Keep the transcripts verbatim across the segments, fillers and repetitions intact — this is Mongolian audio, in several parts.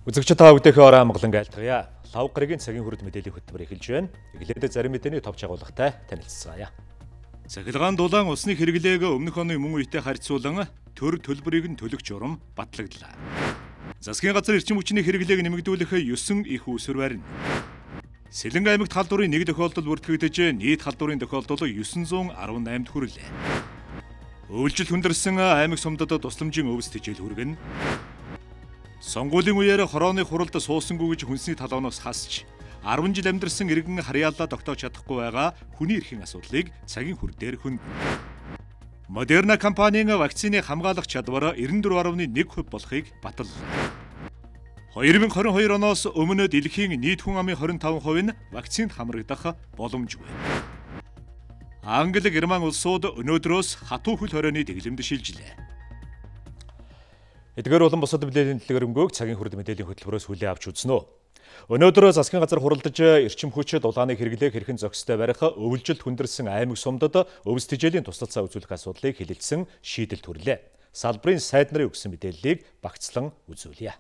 Үзэгчид та бүдээхээ орой амгалан айлтгая. Лав гарагийн цагийн хүрд мэдээллийн хөтөлбөр эхэлж байна. Эглээд зарим мэдээний товч агуулгатай танилцгаая. Цахилгаан дулаан усны хэрэглээг өмнөх оны мөн үетэй харьцуулан төр төлбөрийг нь төлөх журам батлагдлаа. Засгийн газар эрчим хүчний хэрэглээг нэмэгдүүлэх ёсон их усүр барина. Сэлэнг аймагт халдварын нэг тохиолдол бүртгэгдэж нийт халдварын тохиолдол дев'ять арван восемь хүрлээ. Үйлчлэл хүндэрсэн аймаг сумдад тусламжийн өвс тэжээл хүргэн. Сонгуулийн үеэр хорооны хуралд суусангүй гэж хүнсний талаанаас хасч арван жил амьдарсан иргэн харьяалаа тогтоож чадахгүй байгаа хүний эрхийн асуудлыг цагийн хүр дээр хөндлөн. Модерна компанийн вакцины хамгаалах чадвар дев'нэ дөрвөн дасам нэг хувь болохыг баталлаа. две тысячи двадцать two оноос өмнө дэлхийн нийт хүн амын двадцать пять хувь нь вакцинд хамрагдах боломжгүй. Англи, Герман улсууд өнөөдрөөс хатуу хөл хорионы дэглэмд шилжлээ. Эдгээр болон бусад мэдээллийн дэлгэрэнгүй цагийн хүрд мэдээллийн хөтөлбөрөөс хүлээн авч үзнэ. Өнөөдөр засгийн газар хуралдаж эрчим хүч дулааны хэрэглээг хэрхэн зохистой барих өвлжилт хүндэрсэн аймаг сумдад өвс тэжээлийн туслалцаа үзүүлэх асуудлыг хэлэлцсэн шийдэл төрлөө. Салбарын сайд нарын өгсөн мэдээллийг багцлан үзүүлье.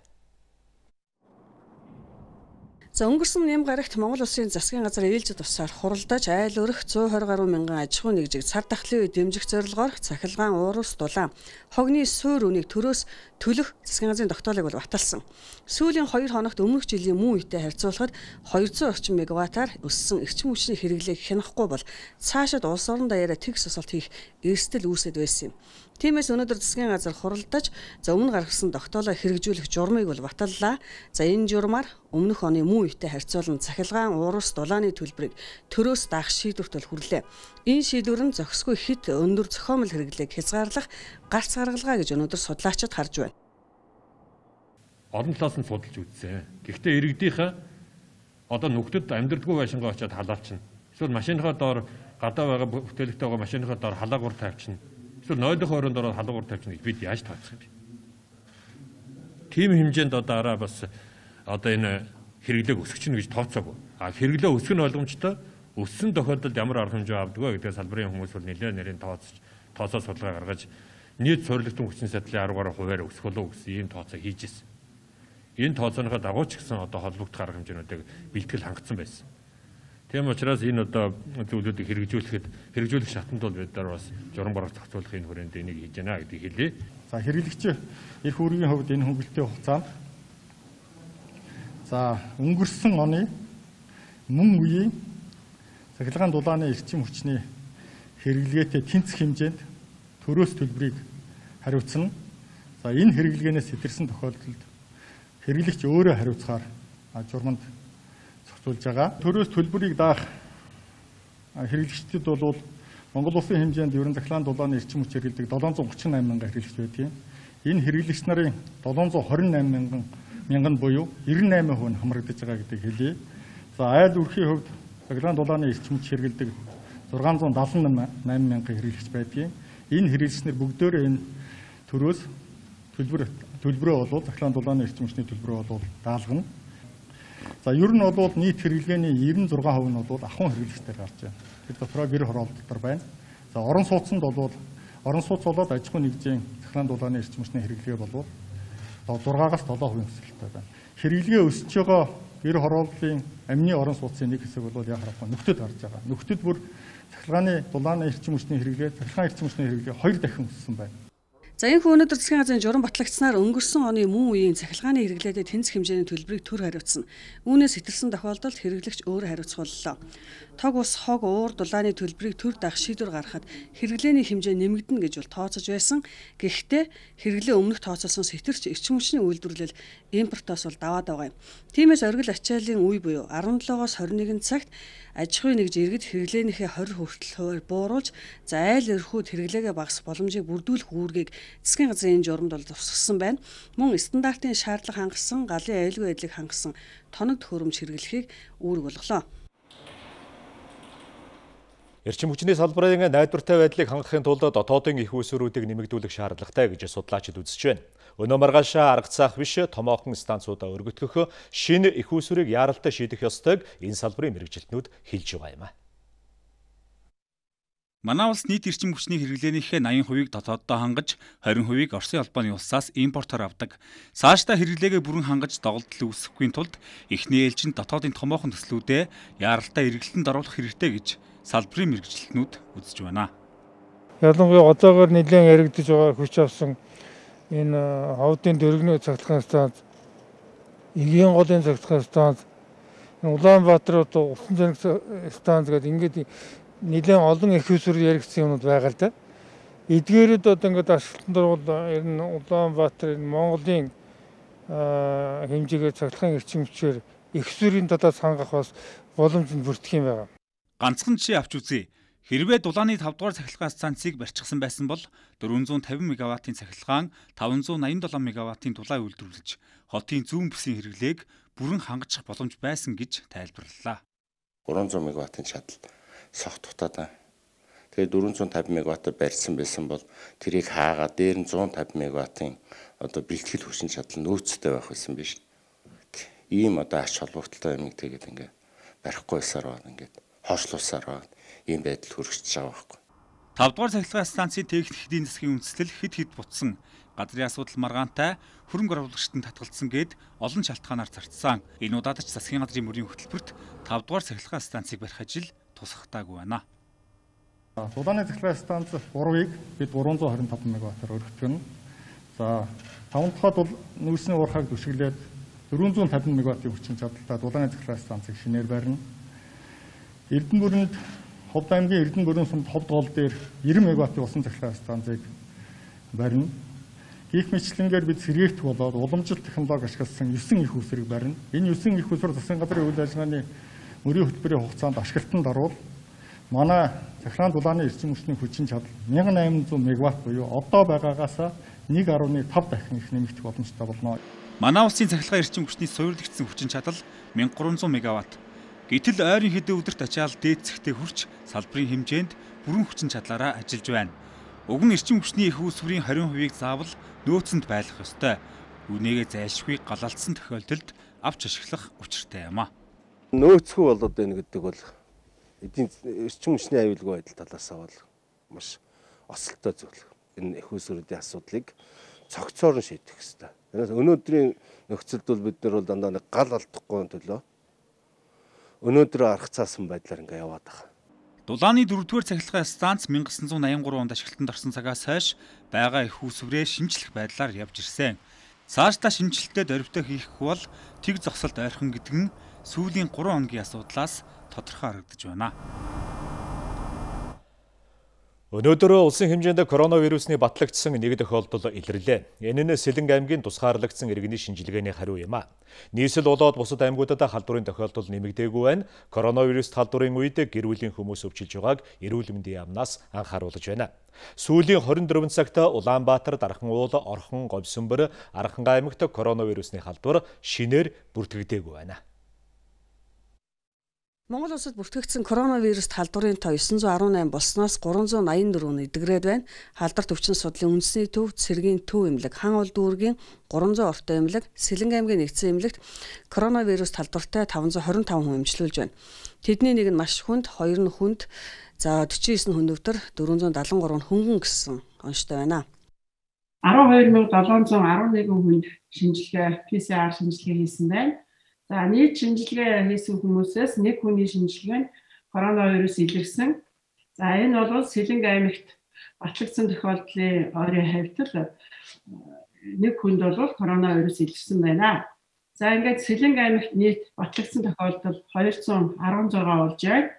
За өнгөрсөн ням гарагт Монгол Улсын засгийн газар ээлжид тусаар хуралдаж айл өрх one twenty гаруй мянган аж ахуй нэгжийг цар тахлын үе дэмжих зорилгоор цахилгаан уурус дулаан хогны суур үнийг төрөөс төлөх засгийн газрын тогтоолыг бол баталсан. Сүүлийн хоёр хоногт өмнөх жилийн мөн үетэй харьцуулахад two hundred орчим мегаваттаар өссөн эрчим хүчний хэрэглээг хянахгүй бол цаашид улс орон даяараа тэгс асуулт хийх эрсдэл үүсэт байсан юм. Тиймээс өнөөдөр засгийн газар хуралдаж за өмнө гаргасан тогтоолоо хэрэгжүүлэх журмыг бол баталлаа. За энэ журмаар өмнөх оны мөн үетэй харьцуулан цахилгаан уурус дулааны төлбөрийг төрөөс даах шийдвэрт бол хүрлээ. Энэ шийдвэр нь зохисгүй хэд өндөр зохиомл хэрэглээг хязгаарлах гарц гаргалгаа гэж өнөөдөр судлаачид харж байна. Олон талаас нь судалж үзсэн. Гэхдээ иргэдийнхээ одоо нүгтэд амьдралгүй байшингаа очиад халаалчихна. Эсвэл машиныхаа доор гадаа байгаа бүтээлэгтэй байгаа машиныхаа доор халаагуур тавьчихна. Эсвэл нойлох оройн доор халаагуур тавьчихна гэж бид яаж тооцох юм бэ? Тим хэмжээнд одоо араа бас одоо энэ хэрэглээг өсгөчнө гэж тооцоогүй. А хэрэглээ өсгөх нь ойлгомжтой. Өссөн тохиолдолд ямар арга хэмжээ авдаг вэ гэдгээр салбарын хүмүүс бол нэлээд нэрийн тооцож тооцоо судалгаа гаргаж нийт суурилтын хүчин чадлын арга баруун хувиар өсөх болов гэсэн ийм тооцоо хийж ирсэн. Энэ тооцооныхоо дагуу ч гэсэн одоо холбогдох арга хэмжээнүүдийг бэлтгэл хангацсан байсан. Тийм учраас энэ одоо зүйлүүдийг хэрэгжүүлэхэд хэрэгжүүлэх шатанд бол бид нар бас журам барах зохицуулах энэ хүрээнд энийг хийж байна гэдгийг хэлье. За хэрэглэгч эрх үүргийн хувьд энэ хөнгөлөлтийн хугацаанд за өнгөрсөн оны мөн үеийн цахилгаан дулааны эрчим хүчний хэрэглгээтэй тэнцэх хэмжээнд төрөөс төлбөрийг хариуцна. За энэ хэрэглээнээс сэтэрсэн тохиолдолд хэрэглэгч өөрөө хариуцахаар журманд зохицуулж байгаа. Төрөөс төлбөрийг даах хэрэглэгчдэд бол Монгол Улсын хэмжээнд ерөн цахилгаан дулааны эрчим хүч хэрэглэдэг seven hundred thirty-nine мянган хэрэглэгч байдгийг. Энэ хэрэглэгч нарын seven hundred twenty-nine мянган мянган буюу ninety-eight хувь нь хамрагдаж байгаа гэдгийг хэлье. За айл өрхийн хувьд цахилгаан дулааны эрчим хүч хэрэглэдэг six hundred seventy-nine мянган хэрэглэгч байдгийг. Энэ хэрэглэгчнэр бүгдөө энэ төрөөс төлбөр төлбөрөө болоод цахилгаан дулааны эрчим хүчний төлбөрөө болоод даалгана. За ер нь бол нийт хэрэглгээний ninety-six хувь нь бол ахуйн хэрэглэгчдээр гарч байна. Тэр дотроо гэр хороолт дотор байна. За орон сууцнд бол орон сууц болоод аж ахуй нэгжийн цахилгаан дулааны эрчим хүчний хэрэглээ бол six-аас seven хувийн өсөлттэй байна. Хэрэглээ өсөж байгаа гэр хорооллын амны орон сууцын нэг хэсэг бол яг харахгүй нөхдөд гарч байгаа. Нөхдөд бүр цахилгааны дулааны эрчим хүчний хэрэглээ, цахилгаан эрчим хүчний хэрэглээ хоёр дахин өссөн байна. За энэ хүн өнөөдөр засгийн газрын журам батлагдсанаар өнгөрсөн оны мөн үеийн цахилгааны хэрэглээтэй тэнцэх хэмжээний төлбөрийг төр хариуцсан. Үүнээс сэтэрсэн тохиолдолд хэрэглэгч өөрөө хариуцах боллоо. Тог ус хог уур дулааны төлбөрийг төр даах шийдвэр гаргахад хэрэглээний хэмжээ нэмэгдэнэ гэж бол тооцож байсан. Гэхдээ хэрэглээ өмнөх тооцоолсон сэтэрч эрчим хүчний үйлдвэрлэл импортоос бол даваад байгаа юм. Тиймээс оргил ачааллын үе буюу sevenseven-аас twenty-one цагт аж ахуй нэгж иргэд хэрэглээнийхээ twenty хүртэл хувиар бууруулж за айл өрхүүд хэрэглээгээ багасгах боломжийг бүрдүүлэх үүргийг засгийн газрын энэ журамд бол тусгасан байна. Мөн стандартын шаардлага хангасан, галын аюулгүй байдлыг хангасан тоног төхөөрөмж хэрэглэхийг үүрэг болголоо. Эрчим хүчний салбарын найдвартай байдлыг хангахын тулд дотоодын их усүрүүдийг нэмэгдүүлэх шаардлагатай гэж судлаачид үзэж байна. Өнөө маргааш арга цаах биш томоохон станцуудаа өргөтгөх шинэ их усүрийг яаралтай шийдэх ёстойг энэ салбарын мэргэжилтнүүд хэлж байгаа юм а. Манай улс нийт эрчим хүчний хэрэглээнийхээ eighty percent-ийг дотооддоо хангаж, twenty percent-ийг Оросын албаны улсаас импортоор авдаг. Цаашдаа хэрэглээгээ бүрэн хангаж доголдол үүсэхгүй тулд эхний ээлжинд дотоодын томоохон төслүүдээ яаралтай эргэлтэнд оруулах хэрэгтэй гэж салбарын мэргэжилтнүүд үзэж байна. Ялангуяа одоогоор нэлээд яригдж байгаа хүч авсан энэ ховдын дөргөний цахилгаан станц, эгийн голын цахилгаан станц, Улаанбаатар усан зэник станц гэдэг ингээд нэлээд олон их усүр яригдсан юмуд байгаа л да. Эдгээрүүд одоо ингээд ашиглалтанд орвол ер нь Улаанбаатар Монголын хэмжээгээр цахилгаан эрчим хүчээр их усүрийн талаас хангах бас боломж нь бүрдэх юм байна. Ганцхан жишээ авч үзье. Хэрвээ дулааны five дугаар цахилгаан станцыг барьчихсан байсан бол four hundred fifty мегаваттын цахилгаан five hundred ninety-seven мегаваттын дулаан үйлдвэрлэж хотын зүүн бүсийн хэрэглээг бүрэн хангаж боломж байсан гэж тайлбарлалаа. three hundred мегаваттын чадал согт дутаад. Тэгээд four hundred fifty мегаваттаар барьсан байсан бол тэрийг хаагаад дээр нь one hundred fifty мегаваттын одоо бэлтгэл хүчин чадал нөөцтэй байх байсан биш. Ийм одоо ач холбогдолтой юм тэгээд ингээ барихгүйсаар байна ингээд хоошлуулсаар байна. Ийм байдал хүрчихэж байгаа байхгүй. five дугаар цахилгаан станцын техник эдийн засгийн үндэслэл хэд хэд бутсан, газрын асуудал маргаантай, хөрөнгө оруулагчдад татгалцсан гээд олон шалтгаанаар зарцсан. Энэ удаадач засгийн газрын мөрийн хөтөлбөрт five дугаар цахилгаан станцыг барих ажил тусгатаагүй байна. Дулааны цахилгаан станц three-ыг бид three hundred twenty-five мегаваттаар өргөж байна. За five дахь бол нүүрсний уурхайг түшиглээд four hundred fifty мегаваттын хүчин чадалтай дулааны цахилгаан станцыг шинээр барина. Эрдэнэ бүрэнд Ховд аймгийн Эрдэнэ бүрэн сумд Ховд гол дээр ninety мегаваттын усан цахилгаан станцыг барина. Гих мэтлэнгээр бид сэргээрт болоод уламжлалт технологи ашигласан nine их усрыг барина. Энэ nine их усрыг засгийн газрын үйл ажиллагааны мөрийн хөтөлбөрийн хугацаанд ашиглалтанд орвол манай захиргаан дулааны эрчим хүчний хүчин чадал eighteen hundred мегаватт буюу одоо байгаагаас one point five дахин их нэмэгдэх боломжтой болно. Манай улсын цахилгаан эрчим хүчний суйрлагдсан хүчин чадал one thousand three hundred мегаватт. Гэтэл ойрын хэдэн өдөрт ачаал дээдсэхтэй хүрч салбарын хэмжээнд бүрэн хүчин чадлаараа ажиллаж байна. Уг нь эрчим хүчний их үүсвэрийн twenty percent-ийг заавал нөөцөнд байлгах ёстой. Үнээгээ зайлшгүй галалдсан тохиолдолд авч ашиглах учиртай юм а. Нөөцгүй болоод байна гэдэг бол эдийн эрчим хүчний аюулгүй байдал талаасаа бол маш осолтой зүйл. Энэ их үүсвэрийн асуудлыг цогцоор нь шийдэх ёстой. Өнөөдрийн нөхцөлд бол бид нар бол дандаа нэг гал алдахгүй төлөө өнөөдөр арга цаасан байдлаар ингээ яваад байгаа. Дулааны дөрөвдүгээр цахилгаан станц nineteen eighty-three онд ашиглалтанд орсон цагаас хойш байгаа их үүсвэрээ шинжлэх байдлаар явж ирсэн. Цаашдаа шинжилтээр дөрвтөө хийхгүй бол тэг зогсолт ойрхон гэдэг нь сүүлийн three хоногийн асуудлаас тодорхой харагдаж байна. Өнөөдөр улсын хэмжээнд коронавирусны батлагдсан нэг тохиолдол илэрлээ. Энэ нь Сэлэнг аймгийн тусгаарлагдсан иргэний шинжилгээний хариу юм а. Нийслэл болоод бусад аймагуудад халдварын тохиолдол нэмэгдээгүй байна. Коронавирус халдварын үед гэр бүлийн хүмүүс өвчилж байгааг эрүүл мэндийн яамнаас анхааруулж байна. Сүүлийн twenty-four цагт Улаанбаатар, Дархан уул, Орхон, Говьсөнбөр, Аранхан аймагт коронавирусны халдвар шинээр бүртгэгдээгүй байна. Монгол улсад бүртгэгдсэн коронавирус халдварын тоо nine hundred eighteen болсноос three hundred ninety-four нэгдгрээд байна. Халдварт өвчин судлалын үндэсний төв, цэргийн төв эмнэлэг, хан ол дүүргийн three hundred ортой эмнэлэг, Сэлэнг аймгийн нэгдсэн эмнэлэгт коронавирус халдвартай five hundred twenty-five хүн эмчилүүлж байна. Тэдний нэг нь маш хүнд, хоёр нь хүнд, за forty-nine хүн өвдөр, four hundred seventy-three нь хөнгөн гэсэн онцтой байна. twelve thousand seven hundred eleven хүнд шинжилгээ P C R шинжилгээ хийсэн байна. За нийт шинжилгээ хийсэн хүмүүсээс нэг хүний шинжилгээ нь коронавирус илэрсэн. За энэ бол Сэлэнг аймагт батлагдсан тохиолдлын ойрын хавьтал нэг хүнд бол коронавирус илэрсэн байна. За ингээд Сэлэнг аймагт нийт батлагдсан тохиолдол two hundred sixteen болж байна.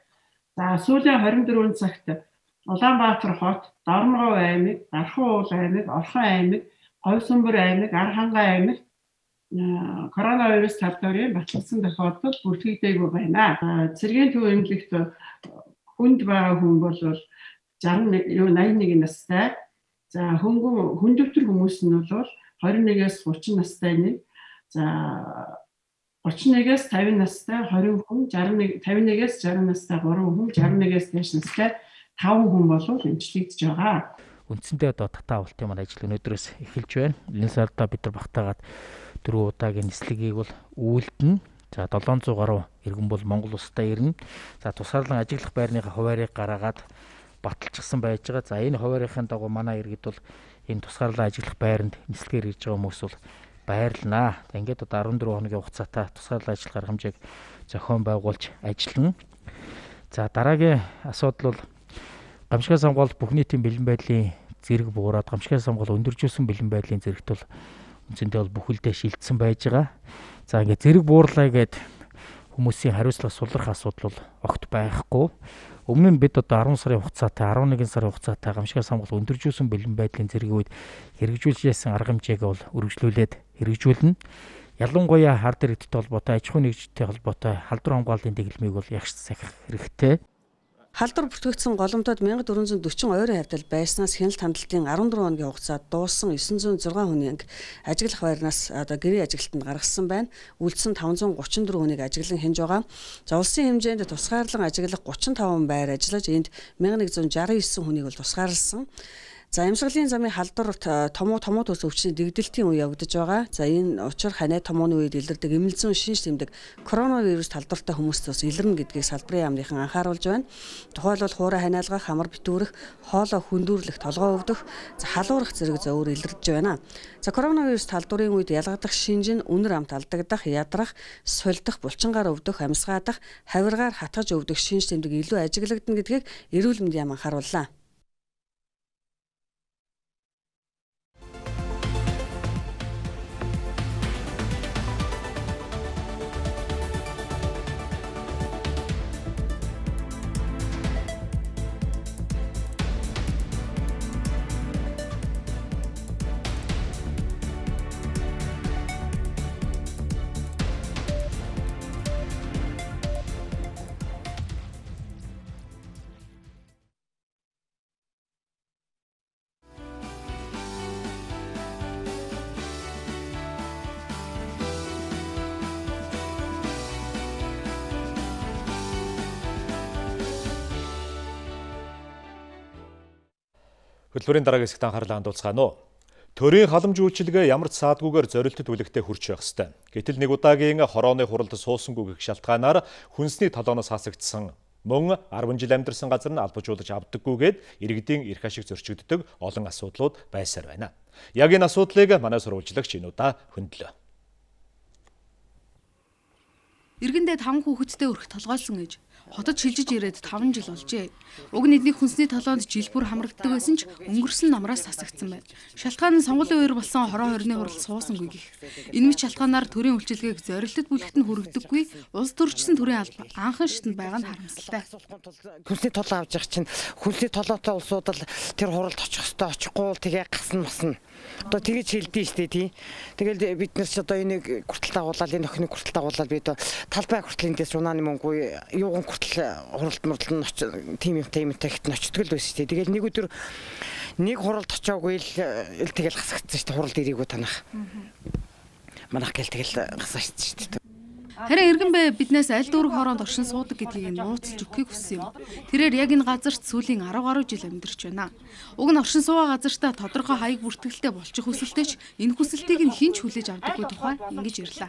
За сүүлийн twenty-four цагт Улаанбаатар хот, Дорногов аймаг, Дархан уул аймаг, Орхон аймаг, Говьсөнбөр аймаг, Аранхан аймаг коронавирус халдварын батлагдсан тохиолдол бүртгэгдээгүй байна. Цэргийн төв эмнэлэгт хүнд байгаа хүн бол ninety-one настай. За хөнгөн хүндөвтөр хүмүүс нь бол twenty-one-ээс thirty настай нэг. За thirty-one-ээс fifty настай twenty хүн, fifty-one-ээс sixty настай three хүн, sixty-one-ээс дээш настай five хүн бол эмчлэгдэж байгаа. Үндсэндээ одоо татаа авалтын маань ажил өнөөдрөөс эхэлж байна. Энэ сарда бид нар багтаагаад дөрөв удаагийн нислэгийг бол үйлдэнэ. За seven hundred гаруй иргэн бол Монгол улстай ирнэ. За тусгаарлан ажиглах байрныхаа хуваарийг гаргаад баталчихсан байж байгаа. За энэ хуваарийнхын дагуу манай иргэд бол энэ тусгаарлан ажиллах байранд нислэгээр ирж байгаа хүмүүс бол баярлнаа. За ингээд одоо арван дөрвөн хоногийн хугацаатай тусгаарлан ажиллах арга хэмжээг зохион байгуулж ажиллана. За дараагийн асуудал бол гамшигын сонгуул бүх нийтийн бэлэн байдлын зэрэг буураад гамшигын сонгуул өндөржүүлсэн бэлэн байдлын зэрэгт бол үндсэндээ бол бүхэлдээ шилжсэн байж байгаа. За ингээд зэрэг буурлаа гэд хүмүүсийн хариуцлага сулрах асуудал бол огт байхгүй. Өмнө нь бид одоо арван сарын хугацаатай арван нэгэн сарын хугацаатай гамшигын сонгуул өндөржүүлсэн бэлэн байдлын зэргийн үед хэрэгжүүлж яасан арга хэмжээг бол үргэлжлүүлээд хэрэгжүүлнэ. Ялангуяа хард иргэдтэй холбоотой, аж ахуй нэгжтэй холбоотой халдвар хамгааллын дэглэмийг бол ягш сахих хэрэгтэй. Халдвар бүртгэгдсэн голомтод мянга дөрвөн зуун дөрвөн ойрын хавьтал байснаас хяналт хандлтын арван дөрвөн хоногийн хугацаад дууссан есөн зуун зургаан хүнийг ажиглах байрнаас одоо гэрээ ажиглалтанд гаргасан байна. Үлдсэн таван зуун гучин дөрвөн хүнийг ажиглан хянж байгаа. За улсын хэмжээнд тусгаарлан ажиглах гучин таван байр ажиллаж энд мянга нэг зуун жаран есөн хүнийг бол тусгаарлсан. За амьсгалын замын халдвар томуу томуу төс өвчний дэгдэлтийн үе явагдаж байгаа. За энэ учир ханиа томооны үед илэрдэг эмэлзэн шинж тэмдэг коронавирус талдвартай хүмүүст бас илэрнэ гэдгийг салбарын яамныхан анхааруулж байна. Тухайлбал хуурай ханиалгах, хамар битүүрэх, хоолой хүндүүрлэх, толгой өвдөх, за халуурах зэрэг зөөр илэрдэж байна. За коронавирус талдварын үед ялгадах шинж нь үнэр амт алдагдах, ядрах, сулдах, булчингаар өвдөх, амьсгаадах, хавиргаар хатгаж өвдөх шинж тэмдэг илүү ажиглагдана гэдгийг эрүүл мэндийн яам анхаарууллаа. Хөтөлбөрийн дараагийн хэсэгт анхаарлаа хандуулцгаана уу. Төрийн халамж үйлчилгээ ямар ч саадгүйгээр зорилттой түлхтэй хүрч байх ёстой. Гэтэл нэг удаагийн хорооны хуралд суусангүй гэх шалтгаанаар хүнсний толооноос хасагдсан мөн арван жил амьдарсан газар нь албажуулж авдаггүйгээд иргэдийн эрх ашиг зөрчигддөг олон асуудлууд байсаар байна. Яг энэ асуудлыг манай сурвалжлагч энэ удаа хөндлөө. Иргэндээ таван хүүхэдтэй өрх толгойлсон ээж хотод шилжиж ирээд таван жил болжээ. Уг нийтний хүнсний толоонд жил бүр хамрагддаг байсан ч өнгөрсөн намраас хасагдсан байна. Шалтгаан нь сонгуулийн үеэр болсон хороо хорины хурал суусангүй гэх. Энэ мэт шалтгаанаар төрийн үйлчилгээг зорилтод бүлэгт нь хүргдэггүй улс төрчсөн төрийн алба анхан шатнд байгаа нь харамсалтай. Хүнсний толоо авч явах чинь хүнсний толоотой улсууд л тэр хуралд очих хөстө очихгүй бол тэгээ гасна масна. Одоо тэгэж хэлдэж штэ тий. Тэгэл бид нар ч одоо энийг хүртэл дагуулаад энэ охиныг хүртэл дагуулаад бид талбай хүртэл эндээс унааны мөнгө юуган хүртэл хуралд мурдал нь тийм юм тийм тагт очтгол байсан штэ. Тэгэл нэг өдөр нэг хуралд очоогүй л тэгэл гасагдсан штэ. Хуралд ирээгүй танах. Манайх гэл тэгэл гасаачсан штэ. Харин иргэн бай биднээс аль дүүрэг хороонд оршин суудаг гэдгийг нууцлж өгөхийг хүссэн юм. Тэрээр яг энэ газарт сүүлийн арав гаруй жил амьдарч байна. Уг нь оршин суугаа газартаа тодорхой хаяг бүртгэлтэй болчих хүсэлтэйч энэ хүсэлтийг нь хинч хүлээж авдаггүй тухай ингэж ирлээ.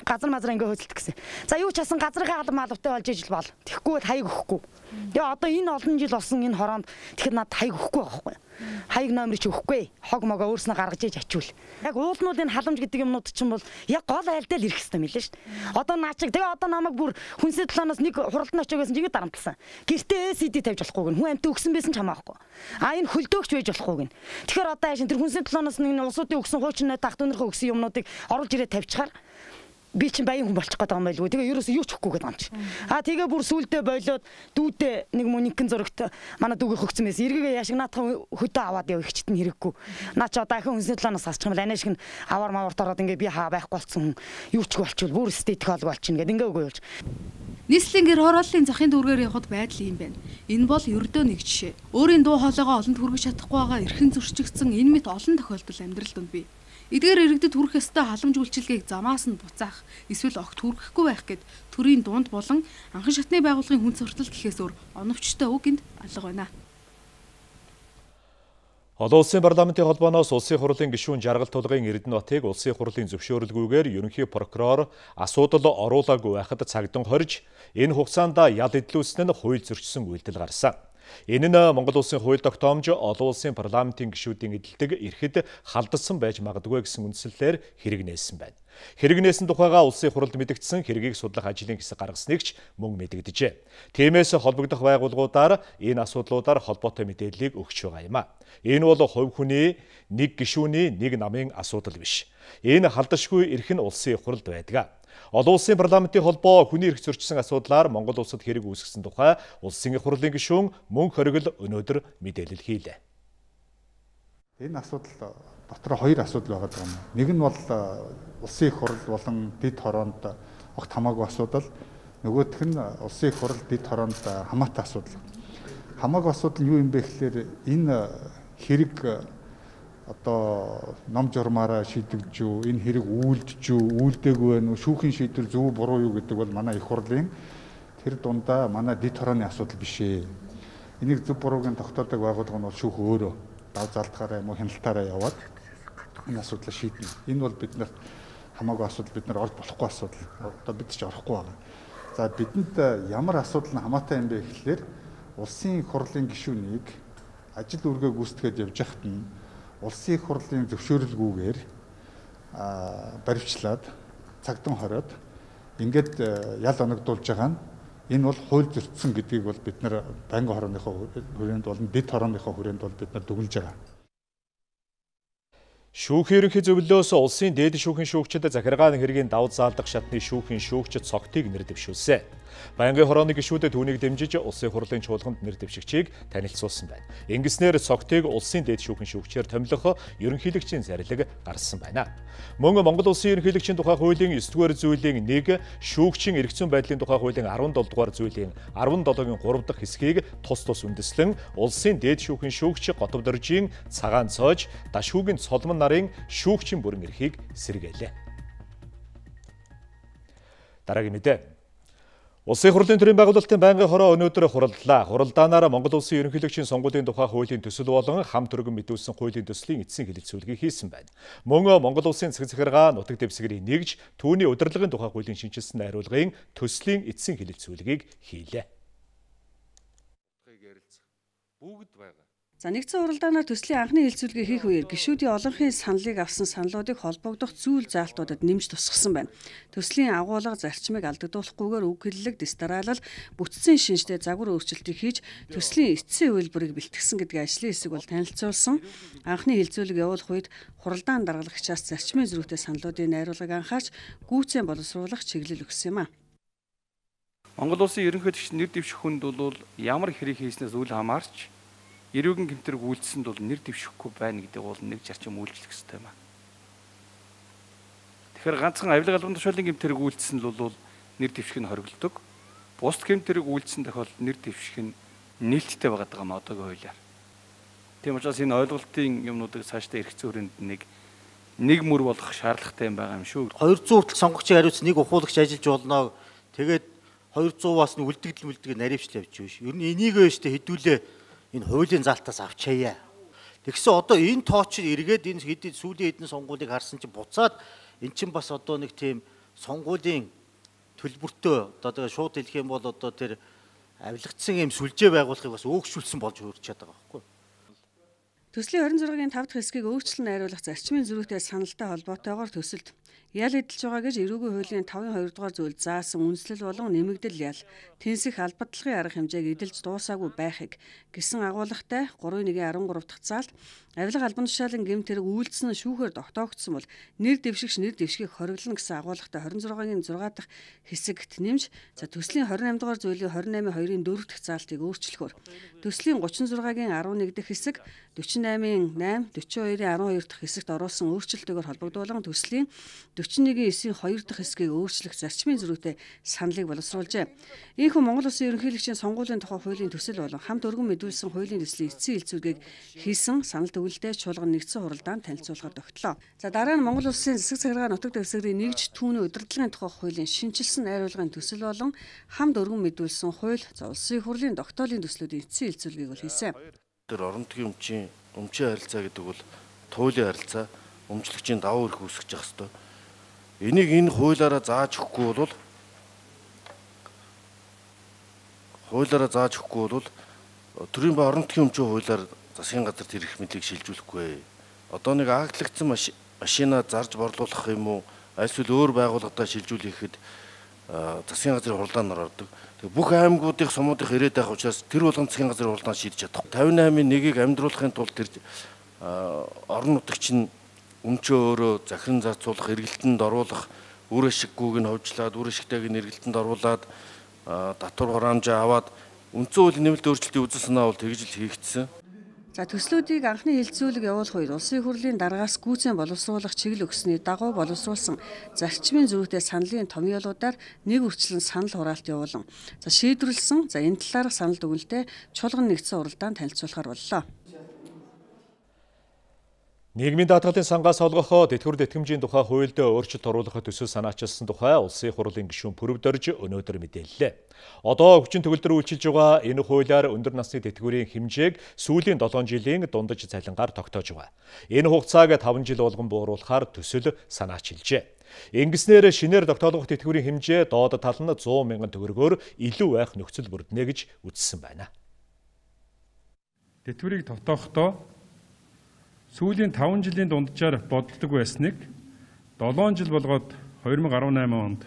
Газар мазар ингээ хөдөлт гэсэн. За юу ч хасан газрын алам алавтай болж ижил бол. Тэгэхгүй хаяг өгөхгүй. Тэгээ одоо энэ олон жил болсон энэ хороонд тэгэхэд надад хаяг өгөхгүй байхгүй. Хаяг номерч өгөхгүй. Хог могоо өөрснөө гаргаж иж ачуул. Яг уулнуудын халамж гэдэг юмнууд чинь бол яг гол айлдаа л ирэх хэрэгтэй мэлээ шүү дээ. Одоо наачиг тэгээ одоо намайг бүр хүнсний толооноос нэг хуралд нь очиогөөс ингэж дарамтлсан. Гэртээ эс ди тавьж болохгүй гэн. Хүн амт өгсөн байсан ч хамаахгүй. А энэ хөлдөөгч байж болохгүй гэн. Тэгэхээр одоо яашин тэр хүнсний толооноос нэг улсуудын өгсөн хуучин тахт өнөрхөө өгсөн юмнуудыг оруулж ирээд тавьчихаар би чинь баян хүн болчих гээд байгаа юм байлгүй. Тэгээ ерөөсөө юу ч өгөхгүй гэдэг юм чи. А тэгээ бүр сүулдэ болоод дүүдээ нэг мөнхөн зурагт манай дүүгээ хөгцсөн байсан. Эргээгээ яашиг наатах хөдөө аваад яв их чит нь хэрэггүй. Наа чи одоо ахин хүнсний толооноос хасчих юм бол анаа шиг нь аваар маварт ороод ингээ би хаа байхгүй болсон хүн юу ч болчихвол бүр эстетик холг болчихно гэдэг ингээ үгүй юулж. Нийслэлийн гэр хорооллын захын дүүргээр явхад байдал юм байна. Энэ бол ердөө нэг жишээ. Өөрийн дуу хоолойгоо олонд хүргэж чадахгүй байгаа эрхэн зөрчигдсөн энэ мэт олон тохиолдол амьдрал донд бий. Эдгээр иргэдэд хүрэх ёстой халамж үйлчилгээг замаас нь буцаах, эсвэл огт хүргэхгүй байх гэд төрийн дунд болон анхан шатны байгууллагын хүн суртал гэхээс өөр оновчтой үг энд алга байна. Олон улсын парламентын холбооноос улсын хурлын гишүүн Жаргал тулгын Эрдэнэбатыг улсын хурлын зөвшөөрөлгүйгээр ерөнхий прокурор асуудал оруулаагүй байхад цагдан хорж энэ хугацаанд ял эдлүүлсэн нь хууль зөрчсөн үйлдэл гарсан. Энэ нь Монгол улсын хууль тогтоомж олон улсын парламентын гишүүдийн эдэлдэг эрхэд халдсан байж магадгүй гэсэн үндслэлээр хэрэг нээсэн байна. Хэрэг нээсэн тухайга улсын хурлд мэдэгдсэн хэргийг судлах ажлын хэсэг гаргасныг ч мөн мэдэгдэжээ. Тиймээс холбогдох байгууллагуудаар энэ асуудлуудаар холбоотой мэдээллийг өгч байгаа юм а. Энэ бол хувь хүний, нэг гишүүний, нэг намын асуудал биш. Энэ халдашгүй эрх нь улсын хурлд байдаг. Олон улсын парламентын холбоо хүний эрх зөрчсөн асуудлаар Монгол улсад хэрэг үүсгэсэн тухай улсын их хурлын гишүүн Мөнх Хоригл өнөөдөр мэдээлэл хийлээ. Энэ асуудал дотор хоёр асуудал байгаа юм. Нэг нь бол улсын их хурл болон дэд хороонд огт хамаагүй асуудал. Нөгөөх нь улсын их хурл дэд хороонд хамаатай асуудал. Хамаагүй асуудал юу юм бэ гэхээр энэ хэрэг одоо ном журмаараа шийдэгдэж юу, энэ хэрэг үйлдэж юу, үйлдээгүй байна уу, шүүхийн шийдвэр зөв буруу юу гэдэг бол манай их хурлын тэр дундаа манай дэд хорооны асуудал биш ээ. Энийг зөв буруугийн тогтоодог байгууллага нь бол шүүх өөрөө дав залтахаараа юм уу хяналтаараа яваад энэ асуудлыг шийднэ. Энэ бол бид нарт хамаагүй асуудал, бид нар орж болохгүй асуудал. Одоо бид ч орохгүй байгаа. За бидэнд ямар асуудал нь хамаатай юм бэ гэхлээр улсын хурлын гишүүнийг ажил үргээ гүйцэтгээд явж байхад нь улсын хурлын зөвшөөрлгүйгээр баривчлаад цагдан хориод ингээд ял оногдуулж байгаа нь энэ бол хууль зөрчсөн гэдгийг бол бид нар байнгын хорооныхоо хүрээнд болон дэд хорооныхоо хүрээнд бол бид нар дүгнэж байгаа. Шүүхийн ерөнхий зөвлөлөөс улсын дээд шүүхийн шүүгчид захиргааны хэргийн давд заалдах шатны шүүхийн шүүгчид цогтыг нэр дэвшүүлсэн. Байнгын хорооны гишүүдэд түүнийг дэмжиж улсын хурлын чуулганд нэр дэвшигчийг танилцуулсан байна. Ингэснээр цогтыг улсын дээд шүүхийн шүүгчээр томилох ерөнхийлөгчийн зарлиг гарсан байна. Мөн Монгол улсын ерөнхийлөгчийн тухай хуулийн ёс дугаар зүйлийн нэг, шүүгчийн эрх зүйн байдлын тухай хуулийн арван долоо дугаар зүйлийн арван долоогийн гурав дахь хэсгийг тус тус үндэслэн улсын дээд шүүхийн шүүгч Готов Доржийн цагаан цоож, Дашуугийн Цолмон нарын шүүгчийн бүрэн эрхийг сэргээлээ. Дараагийн мэдээ. Улсын хурлын төрийн байгуулалтын байнгын хороо өнөөдөр хуралдлаа. Хуралдаанаар Монгол улсын ерөнхийлөгчийн сонгуулийн тухай хуулийн төсөл болон хамт өргөн мэдүүлсэн хуулийн төслийн эцсийн хэлэлцүүлгийг хийсэн байна. Мөн Монгол улсын засаг захиргаа нутаг дэвсгэрийг нэгж түүний удирдлагын тухай хуулийн шинжилсэн найруулгын төслийн эцсийн хэлэлцүүлгийг хийлээ. Бүгд байгаа. За нэгдсэн хуралдаанаар төслийн анхны хэлэлцүүлгийг хийх үеэр гишүүдийн олонхын саналыг авсан саналуудыг холбогдох зүйл заалтуудад нэмж тусгасан байна. Төслийн агуулга зарчмыг алдагдуулахгүйгээр үг хэллэг, дистаралал, бүтцийн шинжтэй загвар өөрчлөлтийг хийж төслийн эцсийн үйлбэрийг бэлтгэсэн гэдэг ажлын хэсэг бол танилцуулсан. Анхны хэлэлцүүлэг явуулах үед хуралдаан даргалагчаас зарчмын зөрүүтэй саналуудын найруулгыг анхаарч гүйцэн боловсруулах чиглэл өгсөн юм а. Монгол улсын ерөнхийлөгч нэр дэвших хүнд бол ямар хэрэг хийснээс үл хамаарч эрүүгийн гэмтэрэг үйлдэлсэнд бол нэр дэвшихгүй байна гэдэг бол нэг зарчим үйлчлэх ёстой юм аа. Тэгэхээр ганцхан авилга албан тушаалын гэмтэрэг үйлдэлсэнд бол нэр дэвших нь хориглодог. Бус гэмтэрэг үйлдэлсэн тохиолдолд нэр дэвших нь нээлттэй байгаа юм одоогийн хуулиар. Тийм учраас энэ ойлголтын юмнуудыг цаашдаа эрх зүйн хүрээнд нэг нэг мөр болгох шаардлагатай юм байгаа юм шүү. двести хүртэл сонгогчийг хариуцсан нэг ухуулагч ажиллаж болно. Тэгээд двести-аас нь үлдэгдэл үлдгээ наривчлаа явж биш. Ер нь энийг өштэй хэдүүлээ энэ хуулийн залтаас авчаяа. Тэгсэн одоо энэ тооч эргээд энэ хэдийн сүүлийн хэдэн сонгуулийг харсан чинь буцаад эн чинь бас одоо нэг тийм сонгуулийн төлбөртөө одоо тэгээ шууд хэлэх юм бол одоо тэр авилгацсан юм сүлжээ байгуулахыг бас өөгшүүлсэн болж хөрч чаддаг байхгүй. Төслийн хорин зургийн тав дахь хэсгийг өөрчлөн найруулах зарчмын зөрүүтэй саналтай холбоотойгоор төсөлд ял эдэлж байгаа гэж эрүүгийн хуулийн тавын хоёр дугаар зүйл заасан үндэслэл болон нэмэгдэл ял тэнцэх албадлагын арга хэмжээг эдэлж дуусаагүй байхыг гэсэн агуулгатай гурван нэгэн арван гурав дахь заалт авилга албан тушаалын гэмтэрэг үйлдэлсэн шүүхээр тогтоогдсон бол нэр дэвшигч нэр дэвшгийг хориглоно гэсэн агуулгатай хорин зургийн зургаа дахь хэсэгт нэмж за төслийн хорин намын дугаар зүйлийн хорин намын хоёрын дөрөв дахь заалтыг өөрчлөхөөр төслийн гучин зургийн арван нэг дахь хэсэг дөрвөн наймын найм дөрвөн хоёрын арван хоёр дахь хэсэгт оруулсан өөрчлөлтөөр холбогдуулан төслийн дөрвөн нэгэн эсийн хоёр дахь хэсгийг өөрчлөх зарчмын зөрүүтэй саналыг боловсруулжээ. Ийхүү Монгол Улсын ерөнхийлөгчийн сонгуулийн тухай хуулийн төсөл болон хамт өргөн мэдүүлсэн хуулийн төслийн эцсийн хэлэлцүүлгийг хийсэн санал төвлөлтөд чуулган нэгдсэн хуралдаанд танилцуулахад тогтлоо. За дараа нь Монгол Улсын засаг захиргаа нутаг дэвсгэрийн нэгж түүний удирдлагын тухай хуулийн шинжилсэн найруулгын төсөл болон хамт өргөн мэдүүлсэн хууль за улсын хурлын тогтоолын төслүүдийн эцсийн хэлэлцүүлгийг бол хийсэн. Тэр орон нутгийн өмчийн өмчийн харилцаа гэдэг бол туйлын харилцаа, өмчлөгчийн давуу эрх үүсгэж явах ёстой. Энийг энэ хуулиараа зааж өгөхгүй бол хуулиараа зааж өгөхгүй бол төрийн ба орон нутгийн өмчийн хуулиар засгийн газарт ирэх мэдлийг шилжүүлэхгүй. Одоо нэг ааглагдсан машина зарж борлуулах юм уу? Эсвэл өөр байгууллагатаа шилжүүлэхэд засгийн газрын хурлаанд ордог. Тэг бүх аймагуудын сумуудын ирээд байх учраас тэр болгон засгийн газрын хурлаанд шийдэж чадахгүй. тавин восемь нэгийг амьдруулахын тулд тэр орон нутагч нь өмчөө өөрөө захиран зарцуулах, эргэлтэнд оруулах, үр ашиггүйг нь ховжлаад, үр ашигтайг нь эргэлтэнд оруулаад татвар хураамжаа аваад үндсэн хуулийн нэмэлт өөрчлөлтийн үзэл санаа бол тэгж л хийгдсэн. За төслүүдийг анхны хилцүүлэг явуулах үед улсын хурлын дараагаас гүйцэн боловсруулах чиглэл өгсөний дагуу боловсруулсан зарчмын зөрүүтэй саналын томьёолуудаар нэг үрчлэн санал хураалт явуулан за шийдвэрлсэн за энэ талаарх санал дүгнэлтэд чуулган нэгдсэн уралдаанд танилцуулахар боллоо. Нийгмийн даатгалын сангаас олгохоо тэтгэвэр тэтгэмжийн тухай хуульд өөрчлөлт оруулахад төсөл санаачилсан тухай улсын хурлын гишүүн Пүрвдорж өнөөдөр мэдээллээ. Одоо өвчин төгөлдөр үйлчилж байгаа энэ хуулиар өндөр насны тэтгэврийн хэмжээг сүүлийн долоон жилийн дундаж цалингаар тогтоож байгаа. Энэ хугацааг таван жил болгон бууруулахаар төсөл санаачилжээ. Ингэснээр шинээр тогтоолгох тэтгэврийн хэмжээ доод тал нь сто мянган төгрөгөөр илүү байх нөхцөл бүрднэ гэж үзсэн байна. Тэтгэврийг тогтоохдоо сүүлийн таван жилийн дунджаар боддог байсныг долоон жил болгоод две тысячи десять онд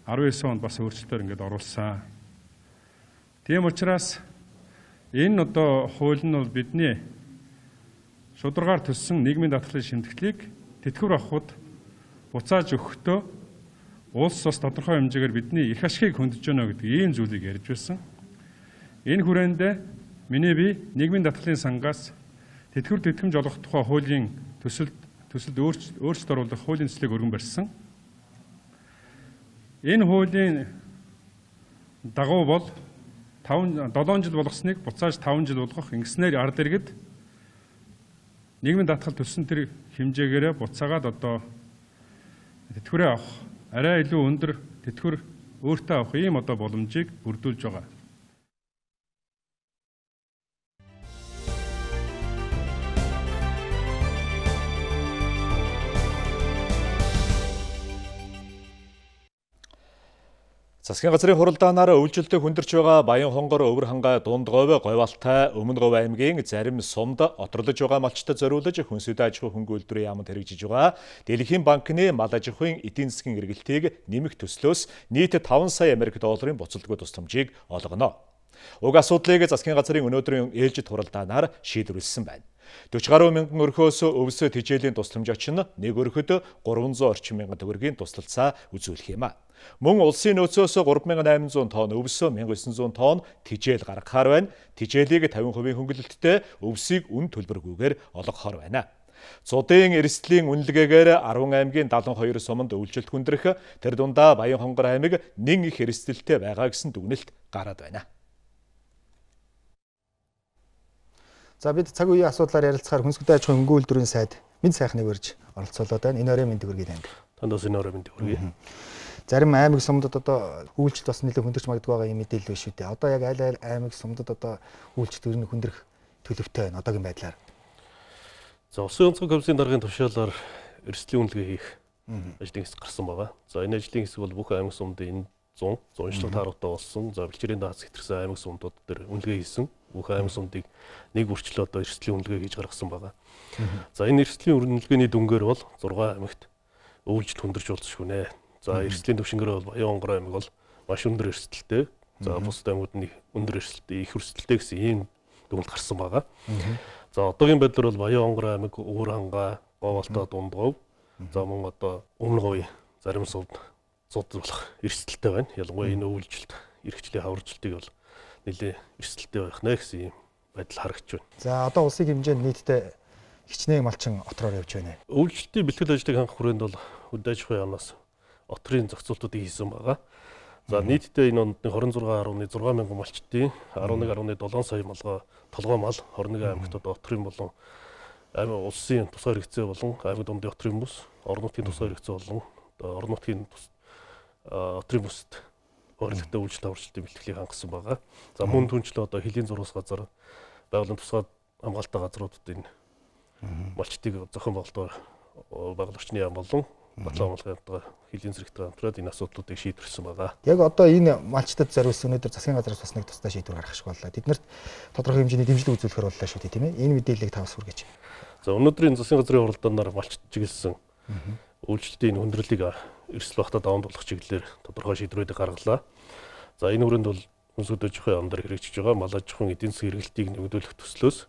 десять онд бас өөрчлөлтөөр ингээд оруулсан. Тийм учраас энэ одоо хууль нь бол бидний шударгаар төссөн нийгмийн даатгалын шимтгэлийг тэтгэвэр авахд буцааж өгөхдөө улс бас тодорхой хэмжээгээр бидний их ашигыг хөндөж байна гэдэг ийм зүйлийг ярьж байсан. Энэ хүрээнд миний бие нийгмийн даатгалын сангаас тэтгэвэр тэтгэмж олгох тухай хуулийн төсөлд төсөлд өөрчлөлт оруулах хуулийн төслийг өргөн барьсан. Энэ хуулийн дагуу бол долоон жил болгосныг буцааж таван жил болгох ингэснээр ард иргэд нийгмийн даатгал төссөн тэр хэмжээгээрээ буцаагаад одоо тэтгэврээ авах арай илүү өндөр тэтгэвэр өөртөө авах ийм одоо боломжийг бүрдүүлж байгаа. Засгийн газрын хуралдаанаар үйлчлэлтэй хүндэрч байгаа Баян хонгор өвөр хангай дунд говь говьалтай өмнө говь аймгийн зарим сумд оторлож байгаа малчтад зориулж хүнсүдэ аж ахуй хөнгө үйлдвэрийн яамд хэрэгжиж байгаа Дэлхийн банкны мал аж ахуйн эдийн засгийн эргэлтийг нэмэх төслөөс нийт таван сая Америк долларын буцалтгүй тусламжийг олгоно. Уг асуудлыг засгийн газрын өнөөдрийн ээлжид хуралдаанаар шийдвэрлсэн байна. forty гаруй мянган өрхөөс өвс тижээлийн тусламж очин нэг өрхөд гурван зуун орчим мянган төгрөгийн тусалцаа үзүүлэх юм а. Мөн улсын нөөцөөс three thousand eight hundred тонн өвс, one thousand nine hundred тонн тижээл гаргахаар байна. Тижээлийг fifty percent хөнгөлөлттэй өвсийг үн төлбөргүйгээр олгохоор байна. Цудын эрсдлийн үнэлгээгээр Арван аймгийн seventy-two суманд үйлчлэлт хүндрэх, тэр дундаа Баян хонгор аймаг нэн их эрсдэлтэй байгаа гэсэн дүгнэлт гараад байна. За бид цаг үеийн асуудлаар ярилцахаар хүнсүдэ аж ахуйн хөнгөн үйлдвэрийн сайд Мэд сайхныг урьж оролцуулаад байна. Энэ оройн мэндийг хүргэе анги. Тандаас энэ оройн мэндийг хүргэе. Зарим аймаг сумдад одоо үйлчлэлт бас нэлээд хүндэрч магадгүй байгаа юм мэдээлэл биш үү те. Одоо яг аль аль аймаг сумдад одоо үйлчлэлт өрнө хүндрэх төлөвтэй байна одоогийн байдлаар. За Улсын онцгой комиссийн даргын тушаалаар эрсдлийн үнэлгээ хийх ажлын хэсэг гарсан байгаа. За энэ ажлын хэсэг бол бүх аймаг сумдын one hundred зуншлаг тааруутай болсон. За бэлчээрийн дац хэтэрсэн аймаг сумдууд дээр үнэлгээ хийсэн. Бүх аймаг сумдыг нэг бүрчлээ одоо эрсдлийн үнэлгээ хийж гаргасан байгаа. За энэ эрсдлийн үнэлгээний дүнгээр бол six аймагт өвлжилт хүндэрч болцсохгүй нэ. За эрсдлийн төвшингээрээ бол Баян хонгор аймаг бол маш өндөр эрсдэлтэй. За бусад аймагуд нь өндөр эрсдэлтэй, их эрсдэлтэй гэсэн ийм дүгнэлт гарсан байгаа. За одоогийн байдлаар бол Баян хонгор аймаг, Өвөр хангай, Говьалтай, Дунд говь, за мөн одоо Өмнө говь зарим сувд цуд болох эрсдэлтэй байна. Ялангуяа энэ өвлжилт, эрхчлийн хавржилтыг бол нэлээд эрсдэлтэй байх нэ гэсэн ийм байдал харагдж байна. За одоо улсын хэмжээнд нийтдээ хичнээн малчин отроор явж байна. Өвлжилтийн бэлтгэл ажлыг хангах хүрээнд бол хүнсүдэ аж ахуйн яамнаас отрын зохицуултуудыг хийсэн байгаа. За нийтдээ энэ онд twenty-six point six мянган малчтын eleven point seven сая малгай толгой мал twenty-one аймагт одоо отрын болон аймаг улсын тусгаар хэрэгцээ болон аймаг дундын отрын бүс, орон нутгийн тусгаар хэрэгцээ болон орон нутгийн отрын бүст өөрлөлтөө үйлчлэл аварчлалтын бэлтгэлийг хангасан байгаа. За мөн түнчлээ одоо хөлийн зургас газар байгууллагын тусгай хамгаалалттай газруудад энэ малчтыг зохион байгуулалтаар байгууллагчны яам болон батлан амгалгаа хилийн зэрэгтэй хамтраад энэ асуудлуудыг шийдвэрсэн байгаа. Яг одоо энэ малчтад зориулсан өнөөдөр засгийн газраас бас нэг тусдаа шийдвэр гаргах шиг боллоо. Тэднэрт тодорхой хэмжээний дэмжлэг үзүүлэхээр боллоо шүү дээ, тийм ээ. Энэ мэдээллийг та бас хүргэж. За өнөөдрийн засгийн газрын хуралдаанаар малчд чиглэсэн үйлчлэлтийн хүндрэлийг эрсдэл багтаа даван туулах чиглэлээр тодорхой шийдвэрүүдийг гаргалаа. За энэ хүрээнд бол хүнс хөдөөжийнхөө амдар хэрэгжиж байгаа мал аж ахуйн эдийн засгийн хэрэглэлтийг нэмэгдүүлэх төслөөс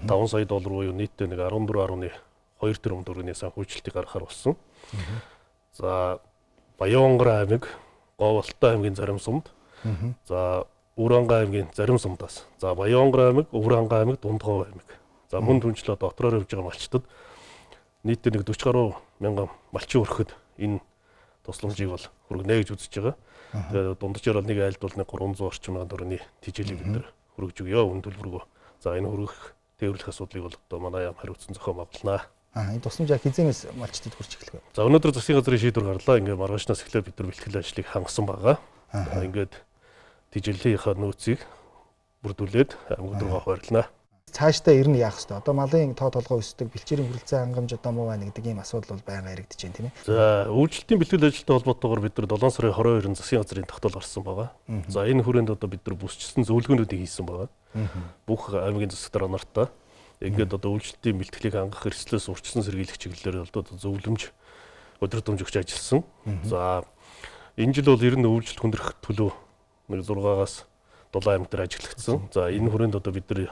таван сая доллар буюу нийтдээ нэг арван дөрвөн арван хоёр тэрбум төгрөгийн санхүүжилтийг гаргахаар болсон. За Баянгар аймаг, Говьолтой аймгийн зарим сумд, за Өврангай аймгийн зарим сумдаас, за Баянгар аймаг, Өврангай аймаг, Дундгов аймаг. За мөн түнчлээ дотроор явж байгаа малчтад нийтдээ нэг дөрвөн гаруй мянган малчин өрөхөд энэ тусламжийг бол хүргэнэ гэж үзэж байгаа. Тэгээд дунджаар бол нэг айлд бол нэг гурван зуун орчим мянган төгрөгийн тижээлийг бид нэр хүргэж өгье үн төлбөргөө. За энэ хүргэх тээвэрлэх асуудлыг бол одоо манай яам хариуцсан зохион байгуулнаа. Аа энэ тусламж яг хизээнээс малчтад хүрч эхлэх вэ? За өнөөдөр засгийн газрын шийдвэр гарлаа. Ингээд маргаашнаас эхлээд бид нар бэлтгэл ажлыг хангасан байгаа. Ингээд тижээлийнхаа нөөцийг бүрдүүлээд аймагт руугаа хуваарлана. Цаашдаа ер нь яах вэ? Одоо малын тоо толгой өсдөг, бэлчээрийн хүрэлцээ хангамж одоо муу байна гэдэг ийм асуудал бол байнга яригдэж байна, тийм ээ. За үйлчлэлтийн бэлтгэл ажилтай холбоотойгоор бид нар долоон сарын хорин хоёрын засгийн газрын тогтоол гарсан байгаа. За энэ хүрээнд одоо бид нар бүсчилсэн зөвлөгөөнүүдийг хийсэн байгаа. Бүх аймгийн засаг дараа нартаа ингээд одоо үйлчлэлтийн бэлтгэлийг хангах эрсдлээс урьдчилан сэргийлэх чиглэлээр одоо зөвлөмж өдөр тутамж өгч ажилласан. За энэ жил бол ер нь үйлчлэл хүндрэх төлөв нэг зургаагаас дулаан аймаг дээр ажиглагдсан. За энэ хүрээнд одоо бид нар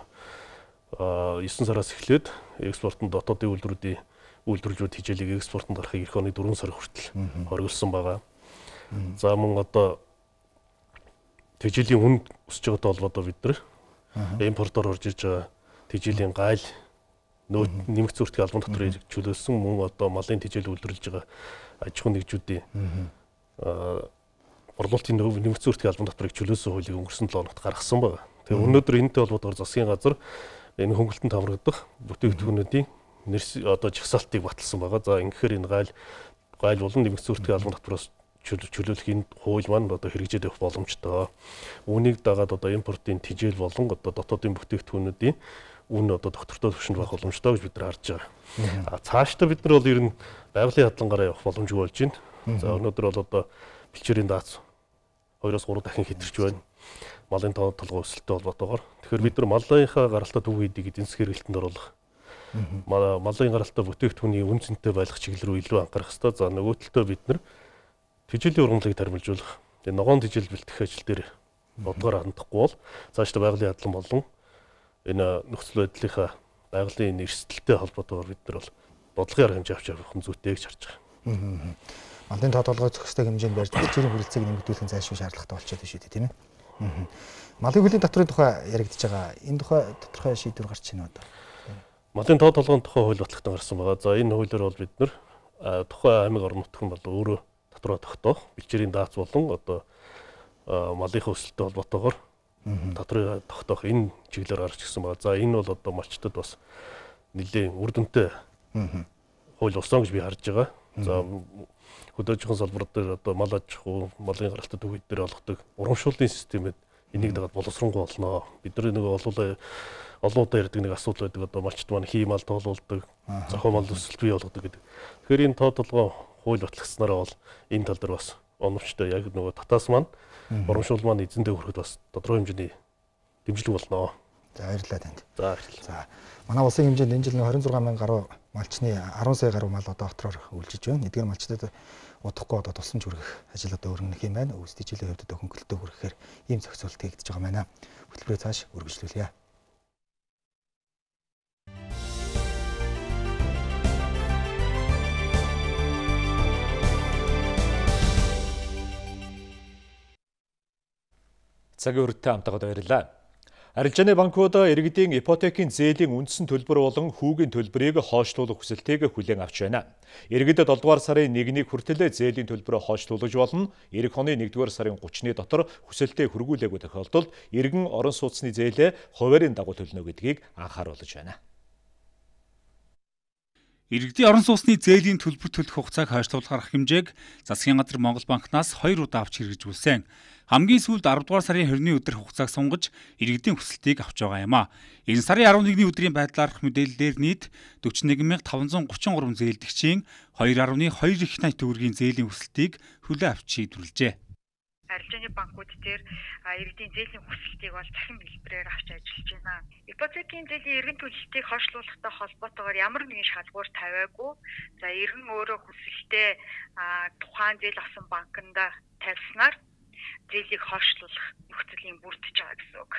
есен сараас эхлээд экспортын дотоодын үйлдвэрүүдийн үйлдвэрлэлүүд хичээлийг экспортод гарахыг эх оны дөрвөн сар хүртэл хориглосон байгаа. За мөн одоо тэжээлийн хүнд өсөж байгаатай холбоотой бид нар импортоор орж ирж байгаа тэжээлийн гайл нөөц нэмэгц үртгийн албан татварыг чөлөөлсөн мөн одоо малын тэжээл үйлдвэрлэж байгаа аж ахуйн нэгжүүдийн борлуулалтын нэмэгц үртгийн албан татварыг чөлөөсөн хуулийг өнгөрсөн долоо хоногт гаргасан байна. Тэгээ өнөөдөр энэтэй холбоотойгоор засгийн газар энэ хөнгөлөлтөнд хамрагдах бүтээгдэхүүнүүдийн нэрс одоо жагсаалтыг баталсан байгаа. За ингэхээр энэ гайл гайл болон нэмэгц үртгийн албан татвараас чөлөөлөх энэ хууль маань одоо хэрэгжээд явах боломжтой. Үүнийг дагаад одоо импортын тэжээл болон одоо дотоодын бүтээгдэхүүнүүдийн үн одоо доктортой төвшөнд байх боломжтой гэж бид нар харж байгаа. А цаашдаа бид нар бол ер нь байгалийн хадгалангаараа явах боломжгүй болж байна. За өнөөдөр бол одоо бэлчээрийн даац хоёроос гурав дахин хэтэрч байна. Малын тоо толгой өсөлттэй холбоотойгоор. Тэгэхээр бид нар малынхаа гаралтаа төв хийдэг эдийн засгийн хэрэглэлтэнд оруулах. Малын гаралтаа бүтээгдэхүүний үн цэнтэй байлгах чиглэл рүү илүү анхаарах хэрэгтэй. За нөгөө талдаа бид нар тэжээлийн ургамлыг тармилжуулах. Тэгээ ногоон тэжээл бэлтгэх ажил дээр бодгоор хандахгүй бол цаашдаа байгалийн хадлан болон энэ нөхцөл байдлынхаа байгалийн эрсдэлтэй холбоотойгоор бид нар бол бодлогын арга хэмжээ авч явах нь зүйтэй гэж харж байгаа. Малын тоо толгой зохистой хэмжээнд барьж бэлчээрийн хүрэлцээг нэмэгдүүлэх зайлшгүй шаардлагатай болчиход байна шүү дээ, тийм ээ. Малын хөлийн татврын тухай яригдж байгаа. Энэ тухай тодорхой шийдвэр гарч байна одоо. Малын тоо толгойн тухай хууль батлагдсан гарсан байгаа. За энэ хуулиар бол бид нар тухайн аймаг орон нутгийн бол өөрөө татвараа тогтоох, бэлчээрийн даац болон одоо малынхаа өсөлттэй холбоотойгоор татварыг тогтоох энэ чиглэлээр гарч ирсэн байгаа. За энэ бол одоо малчтад бас нэлээд үр дүнтэй хууль болсон гэж би харж байгаа. За хөдөөжихөн салбар дээр одоо мал аж ахуй, малын гаралтай төвүүд дээр олгодог урамшууллын системэд энийг дагаад боловсронгуй болно. Бид нар нэг олуулаа олон удаа ярьдаг нэг асуудал байдаг. Одоо малчт маань хий мал тоолуулдаг, зохион мал өсөлт бий болгодог гэдэг. Тэгэхээр энэ тоо толгой хууль батлагдсанараа бол энэ тал дээр бас оновчтой яг нөгөө татаас маань урамшуул маань эзэндээ хүрэхэд бас тодорхой хэмжээний дэмжлэг болно. За баярлалаа танд. За баярлалаа. За манай улсын хэмжээнд энэ жил двадцать шесть мянган гаруй малчны арван сая гаруй мал одоо дотороор үйлчилж байна. Эдгээр малчдад удахгүй одоо тусламж хүргэх ажил одоо өргөнөх юм байна. Өвс тэжээлийн хувьд одоо хөнгөлөлтөө хүргэхээр ийм зохицуулт хийгдэж байгаа байна. Хөтөлбөрөө цааш үргэлжлүүлье. Цагийн хүрээтэй хамтагаад баярлалаа. Арилжааны банкуд иргэдийн ипотекийн зээлийн үндсэн төлбөр болон хүүгийн төлбөрийг хойшлуулах хүсэлтийг хүлээн авч байна. Иргэдэд долдугаар сарын нэгнийг хүртэл зээлийн төлбөрөө хойшлуулж болно. Эх оны нэгдүгээр сарын гуравны дотор хүсэлтээ хүргүүлээгүй тохиолдолд иргэн орон сууцны зээлээ хуваарийн дагуу төлнө гэдгийг анхааруулж байна. Иргэдийн орон сууцны зээлийн төлбөр төлөх хугацааг хойшлуулах арга хэмжээг Засгийн газар Монгол банкнаас хоёр удаа авч хэрэгжүүлсэн. Хамгийн сүүлд аравдугаар сарын хорины өдөр хугацааг сунгаж иргэдийн хүсэлтийг авч байгаа юм а. Энэ сарын арван нэгний өдрийн байдлаар мэдээлэлээр нийт дөрвөн мянга таван зуун гучин гурван зээлдэгчийн хоёр гаруй хоёр их найт төгрөгийн зээлийн хүсэлтийг хүлээн авч шийдвэрлэжээ. Арилжааны банкуд дээр иргэдийн зээлийн хүсэлтийг бол цахим хэлбэрээр авч ажиллаж байна. Ипотекийн зээлийн эргэн төлөлтийг хойшлуулахтай холбоотойгоор ямар нэгэн шалгуур тавиагүй. За иргэн өөрөө хүсэлтээ тухайн зээл авсан банкнда тавьснаар зээлийг хойшлуулах нөхцөлийн бүрдэж байгаа гэсэн үг.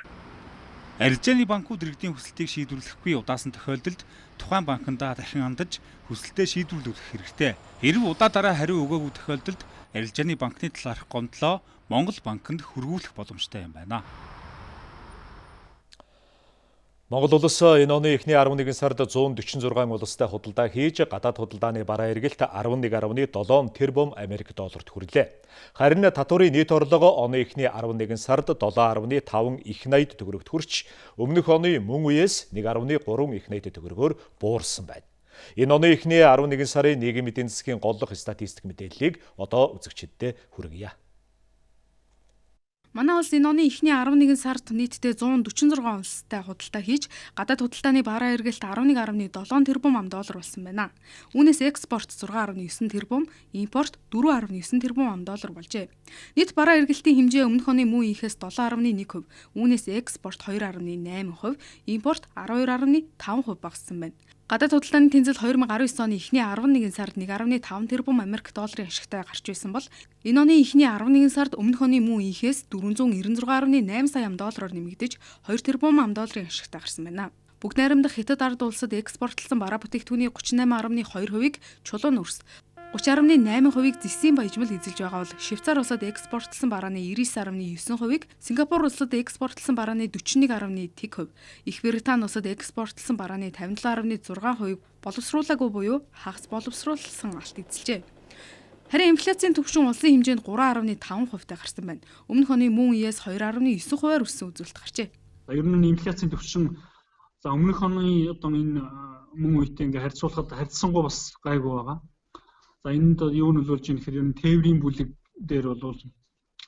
Арилжааны банкуд иргэдийн хүсэлтийг шийдвэрлэхгүй удаасан тохиолдолд тухайн банкнда дахин хандаж хүсэлтээ шийдвэрлүүлэх хэрэгтэй. Хэрв удаа дараа хариу өгөөгүй тохиолдолд арилжааны банкны талаарх гомдлоо Монгол банкнд хөрвүүлэх боломжтой юм байна. Монгол улс энэ оны эхний арван нэгэн сард зуун дөрвөн зургаан улстай худалдаа хийж гадаад худалдааны бараа эргэлт арван нэг гаруй долоон тэрбум Америк долларт хүрлээ. Харин татварын нийт орлого оны эхний арван нэгэн сард долоон гаруй таван их найд төгрөгт хүрч өмнөх оны мөн үеэс нэг гаруй гурван их найд төгрөгөөр буурсан байна. Энэ оны эхний арван нэгэн сарын нийгмийн эдийн засгийн голлох статистик мэдээллийг одоо үзэгчдэд хүргье. Манай улс энэ оны эхний арван нэгэн сард нийтдээ зуун дөрвөн зургаан улстай худалдаа хийж гадаад худалдааны бараа эргэлт арван нэг гаруй долоон тэрбум ам доллар болсон байна. Үүнээс экспорт зургаан гаруй девять тэрбум, импорт дөрвөн гаруй девять тэрбум ам доллар болжээ. Нийт бараа эргэлтийн хэмжээ өмнөх оны мөн ихээс долоон гаруй нэг хувь, үүнээс экспорт хоёр гаруй восемь хувь, импорт арван хоёр гаруй таван хувь багассан байна. Гадаад худалдааны тэнцэл две тысячи девятнадцать оны эхний арван нэгэн сард нэг гаруй таван тэрбум Америк долларын ашигтай гарч байсан бол энэ оны эхний арван нэгэн сард өмнөх оны мөн ихээс дөрвөн зуун девяносто шесть гаруй восемь сая ам доллараар нэмэгдэж хоёр тэрбум ам долларын ашигтай гарсан байна. Бүгд найрамдах Хятад ард улсад экспортлсон бараа бүтээгдэхүүний тридцать восемь гаруй хоёр хувийг чулуун өрс, тридцать гаруй восемь хувийг зэсийн баяжмал эзэлж байгаа бол Швейцар улсад экспортлсон барааны девяносто гаруй девять хувийг, Сингапур улсад экспортлсон барааны сорок один гаруй один хувь, Их Британи улсад экспортлсон барааны пятьдесят семь гаруй шесть хувийг боловсруулаагүй буюу хагас боловсруулсан алт эзэлжээ. Харин инфляцийн түвшин улсын хэмжээнд три гаруй таван хувьтай гарсан байна. Өмнөх оны мөн үеэс two гаруй nine хувиар өссөн үзүүлэлт гарчээ. Ер нь инфляцийн түвшин за өмнөх оны одоо энэ мөн үетэй ингээ харьцуулахад харьцсангуй бас гайгүй байгаа. За энд юу нөлөөлж ийм гэхээр ер нь тээврийн бүлэг дээр бол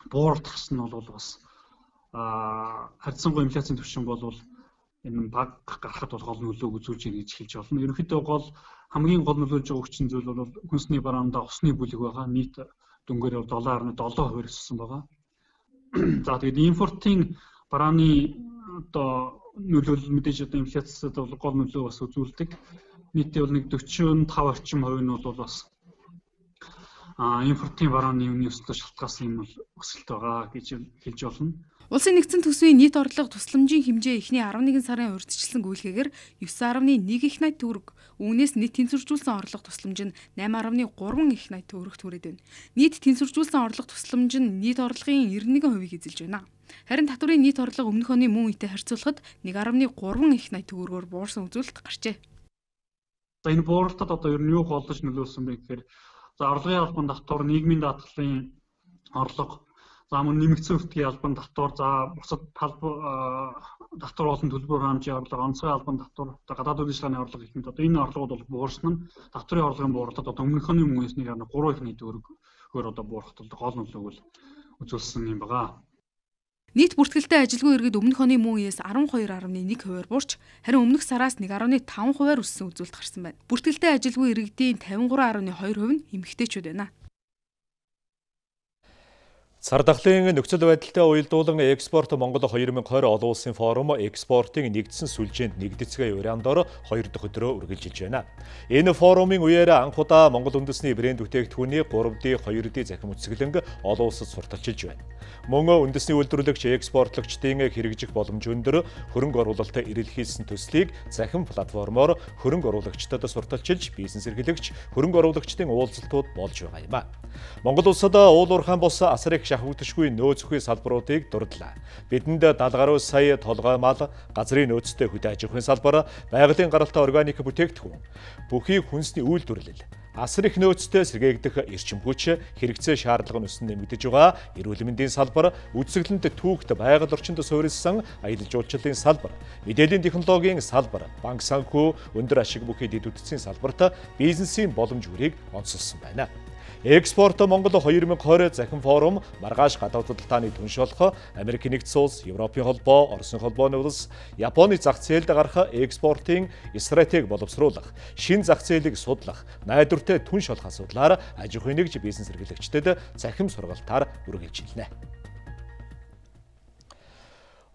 буурдахсан нь бол бас а харьцангуй инфляцийн түвшин бол энэ баг гарахад бол гол нөлөөг үзүүлж ийн гэж хэлж байна. Ерөнхийдөө гол хамгийн гол нөлөөлж байгаа хүчин зүйл бол хүнсний бараанда усны бүлэг байгаа. Нийт дөнгөөр seven гаруй seven хувиар өссөн байгаа. За тэгээд импортын барааны одоо нөлөөлөл мэдээж одоо инфляцид бол гол нөлөө бас үзүүлдэг. Нийтдээ бол нэг forty-five орчим хувь нь бол бас а импортын барааны үнийн өсөлтөд шалтгаалсан юм бол өсөлт байгаа гэж хэлж болно. Улсын нэгдсэн төсвийн нийт орлого тусламжийн хэмжээ эхний арван нэгэн сарын урьдчилсан гүйлгээгээр девять гаруй one их найт төгрөг, үүнээс нийт тэнцвэржүүлсэн орлого тусламж нь eight гаруй three их найт төгрөгт хүрээд байна. Нийт тэнцвэржүүлсэн орлого тусламж нь нийт орлогын ninety-one хувийг эзэлж байна. Харин татварын нийт орлого өмнөх оны мөн үетэй харьцуулахад one гаруй three их найт төгрөгөөр буурсан үзүүлэлт гарчээ. За энэ бууралтад одоо ер нь юу голдож нөлөөлсөн бэ гэхээр за орлогын албан татвар, нийгмийн даатгалын орлого, за мөн нэмэгдсэн өртгийн албан татвар, за бусад татвар болон төлбөр хаамжийн орлого, онцгой албан татвар, гадаад үйл ажиллагааны орлого гэх мэт одоо энэ орлогууд бол буурсан нь татварын орлогын бууралтад одоо өмнөх оны мөнгөөс нэг three их найт төгрөгөөр одоо буурахад гол нөлөөг үзүүлсэн юм байна. Нийт бүртгэлтэй ажилгүй иргэд өмнөх оны мөн үеэс twelve гаруй one хувиар буурч, харин өмнөх сараас one гаруй five хувиар өссөн үзүүлэлт гарсан байна. Бүртгэлтэй ажилгүй иргэдийн fifty-three гаруй two хувь нь эмэгтэйчүүд байна. Сар дахлын нөхцөл байдалтай уялдуулан экспорт Монгол twenty twenty олон улсын форум экспортын нэгдсэн сүлжээнд нэгдэцгээ урьяндор хоёр дахь өдрөө үргэлжилж байна. Энэ форумын үеэр анх удаа Монгол үндэсний брэнд бүтээгдэхүүний three D, two D захим үсгэлэнг олон улсад сурталчилж байна. Мөн үндэсний үйлдвэрлэгч экспортлогчдын хэрэгжих боломж өндөр хөрөнгө оруулалт эрэлхийлсэн төслийг захим платформоор хөрөнгө оруулагчдад сурталчилж бизнес эрхлэгч хөрөнгө оруулагчдын уулзалтууд болж байгаа юм а. Монгол улсад уул уурхайн бус асар их шахагдшгүй нөөц өхөө салбаруудыг дурдлаа. Бидэнд даал гаруй сая толгой мал, газрын нөөцтэй хөдөө аж ахуйн салбар, байгалийн гаралтай органик бүтээгдэхүүн, бүхий хүнсний үйлдвэрлэл, асар их нөөцтэй сэргээгдэх эрчим хүч, хэрэгцээ шаардлага нь өсөн нэмэгдэж байгаа эрүүл мэндийн салбар, үзэсгэлэнт түүхт байгаль орчинд суурилсан аялал жуулчлалын салбар, мэдээллийн технологийн салбар, банк санхүү, өндөр ашиг бүхий дэд үтцийн салбарт бизнесийн боломж хүрийг онцолсон байна. Экспорт Монгол хоёр мянга двадцать захин форум, маргааш гадаад судалгааны түншолох, Америк нэгдсэн улс, Европын холбоо, Оросын холбооны улс, Японы зах зээлд гарах экспортын стратеги боловсруулах, шин зах зээлийг судлах, найдвартай түнш олох асуудлаар аж ахуйн нэгж бизнес эрхлэгчдэд захим сургалтаар үргэлжилнэ.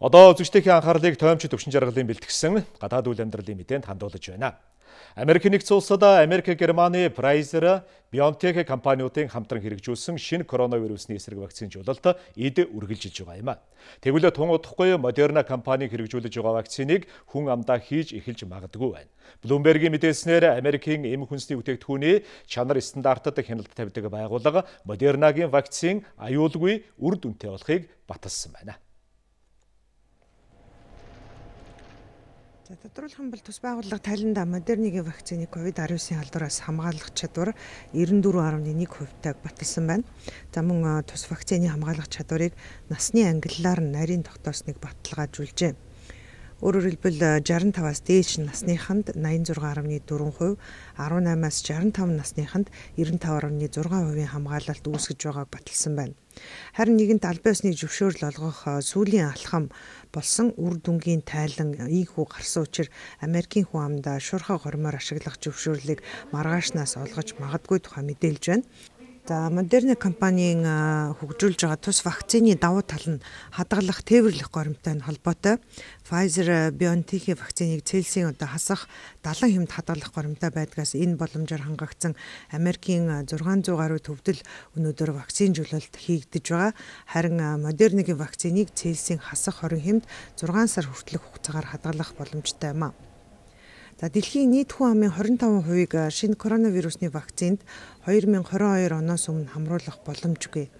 Одоо үзэгчдийн анхаарлыг тоомч төвшин жаргалын бэлтгэсэн гадаад үйл амьдралын мэдээнд хандуулж байна. Америк нэгдсэн улсад Америк, Германы, Pfizer, BioNTech компаниудын хамтран хэрэгжүүлсэн шинэ коронавирусны эсрэг вакцинжуулалт эд үргэлжилж байгаа юм а. Тэгвэл тун удахгүй Moderna компани хэрэгжүүлж байгаа вакциныг хүн амдаа хийж эхэлж магадгүй байна. Bloomberg-ийн мэдээлснээр Америкийн эм хүнсний бүтээгдэхүүний чанар стандартад хяналт тавьдаг байгууллага Moderna-гийн вакцин аюулгүй үр дүнтэй болохыг баталсан байна. За тодорхойлох бол тус байгууллага тайланда Moderna-гийн вакциныг ковид девятнадцать халдвараас хамгаалах чадвар девяносто четыре дасмал нэг хувьтайг баталсан байна. За мөн тус вакцины хамгаалах чадварыг насны ангиллаар нь нарийн тогтоосныг баталгаажуулжээ. Өөрөөр хэлбэл шестьдесят пять-аас дээш насныханд восемьдесят шесть дасмал четыре хувь, деснаймаас шестьдесят пять насныханд девяносто пять дасмал шесть хувийн хамгаалалт үүсгэж байгааг баталсан байна. Харин нэгэнт албан ёсны зөвшөөрөл олгох сүүлийн алхам болсон үр дүнгийн тайлан ийхүү гарсан учраас Америкийн хүн амдаа шуурхай хормоор ашиглах зөвшөөрлийг маргаашнаас олгож магадгүй тухай мэдээлж байна. За Moderna компанийн хөгжүүлж байгаа тус вакцины давуу тал нь хадгалах, тээвэрлэх горимтой холбоотой. Pfizer, BioNTech вакциныг Цельсийн одоо хасах далайн хэмт хадгалах горимтой байдгаас энэ боломжоор хангагдсан Америкийн зургаан зуун гаруй төвдөл өнөөдөр вакцинжуулалт хийгдэж байгаа. Харин Moderna-гийн вакциныг Цельсийн хасах хорин хэмт зургаан сар хүртэлх хугацаагаар хадгалах боломжтой юм а. За дэлхийн нийт хүн амын двадцать пять хувийг шинэ коронавирусны вакцинд две тысячи двадцать two оноос өмнө хамруулах боломжгүй.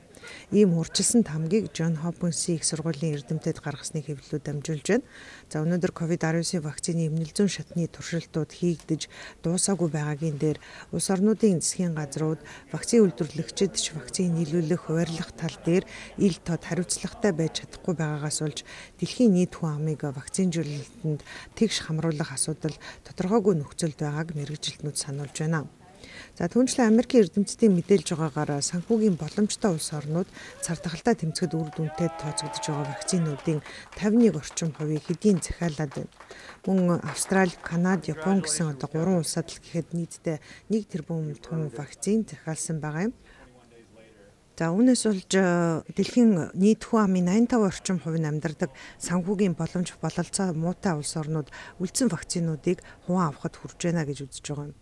Ийм урьдчилсан тамгийг John Hopkins их сургуулийн эрдэмтэд гаргасны хэвлэлүүд дамжуулж байна. За өнөөдөр ковид девятнадцать вакцины эмнэлзэн шатны туршилтууд хийгдэж дуусаагүй байгаагийн дээр улс орнуудын засгийн газрууд вакцины үйлдвэрлэгчид ч вакцины нийлүүлэх хуваарлах тал дээр ил тод хариуцлагатай байж чадахгүй байгаагаас болж дэлхийн нийт хүн амыг вакцинжуулалтанд тэгш хамруулах асуудал тодорхойгүй нөхцөлд байгааг мэргэжилтнүүд сануулж байна. За түүнчлэн Америкийн эрдэмтдийн мэдээлж байгаагаар санхүүгийн боломжтой улс орнууд цар тахалтай тэмцэхэд үр дүнтэй тооцогдож байгаа вакцинуудын пятьдесят one орчим хувийг хэдийн захиалаад байна. Мөн Австрали, Канада, Япон гэсэн одоо гурван улсад л гэхэд нийтдээ нэг тэрбум тонн вакцин захиалсан байгаа юм. За үүнээс болж дэлхийн нийт хүн амын восемьдесят five орчим хувь нь амьдардаг санхүүгийн боломж бололцоо муутай улс орнууд үлдсэн вакцинуудыг хуван авахд хүрж байна гэж үзэж байгаа юм.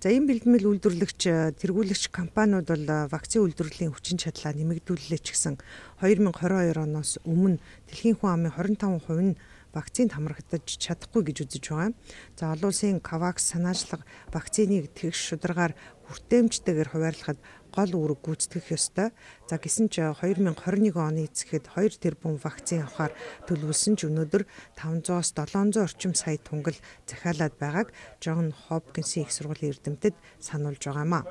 За энэ бэлтгэл үйлдвэрлэгч, тэргүүлэгч компаниуд бол вакцины үйлдвэрлэлийн хүчин чадлаа нэмэгдүүллээ ч гэсэн две тысячи двадцать two оноос өмнө дэлхийн хүн амын twenty five хувь нь вакцинд хамрагдаж чадахгүй гэж үзэж байгаа. За олон улсын Covax санаачлага вакциныг тэгш шударгаар хүртээмжтэйгээр хуваарлахад гол үүрэг гүйцэтгэх ёстой. За гэсэн ч две тысячи twenty-one оны эцэхэд two тэрбум вакцин авахар төлөвлөсөн ч өнөөдөр five hundred-аас seven hundred орчим сая тунгал захиалаад байгааг John Hopkins их сургуулийн эрдэмтэд сануулж байгаа юм а.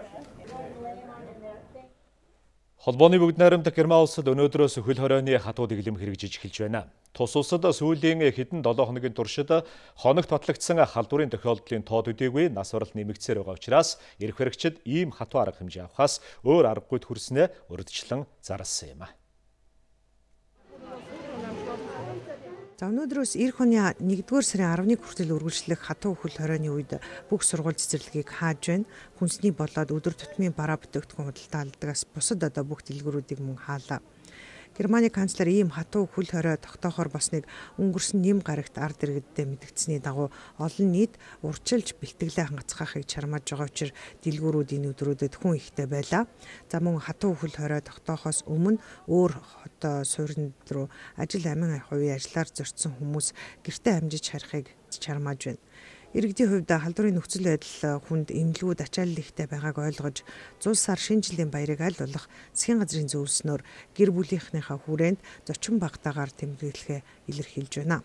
Холбооны бүгд найрамдах Герман улсад өнөөдрөөс хөл хорионы хатуу дэглэм хэрэгжиж эхэлж байна. Тус улсад сүүлийн хэдэн долоо хоногийн туршид хоногт батлагдсан халдварын тохиолдлын тоод үдээгүй нас баралт нэмэгдсээр байгаа учраас эрх баригчид ийм хатуу арга хэмжээ авахаас өөр аргагүй хүрснээ урьдчилан зарласан юм а. За өнөөдрөөс эх оны нэгдүгээр сарын eleventh хүртэл үргэлжлэх хатуу хөл хорионы үед бүх сургууль цэцэрлэгийг хааж байна. Хүнсний болоод өдөр тутмын бараа бүтээгдэхүүн худалдаа алдагаас бусад одоо бүх дэлгүүрүүдийг мөн хаалаа. Германы канцлер ийм хатуу хөл хорой тогтоохоор босныг өнгөрсөн нэм гарагт ард иргэддээ мэдгдсэний дагуу олон нийт урьдчилж бэлтгэлээ хангацгаахыг чармааж байгаа учраас дэлгүүрүүд энэ өдрүүдэд хүн ихтэй байлаа. За мөн хатуу хөл хорой тогтоохоос өмнө өөр хот суурин руу ажил амин хувийн ажиллаар зорьсон хүмүүс гэртээ амжиж харихыг чармааж байна. Иргэдийн хувьд халдварын нөхцөл байдал хүнд эмнэлгүүд ачаалал ихтэй байгааг ойлгож зул сар шинэ жилийн баярыг аль болох засгийн газрын зөвлснөөр гэр бүлийнхнийхээ хүрээнд зочин багтаагаар тэмдэглэхээ илэрхийлж байна.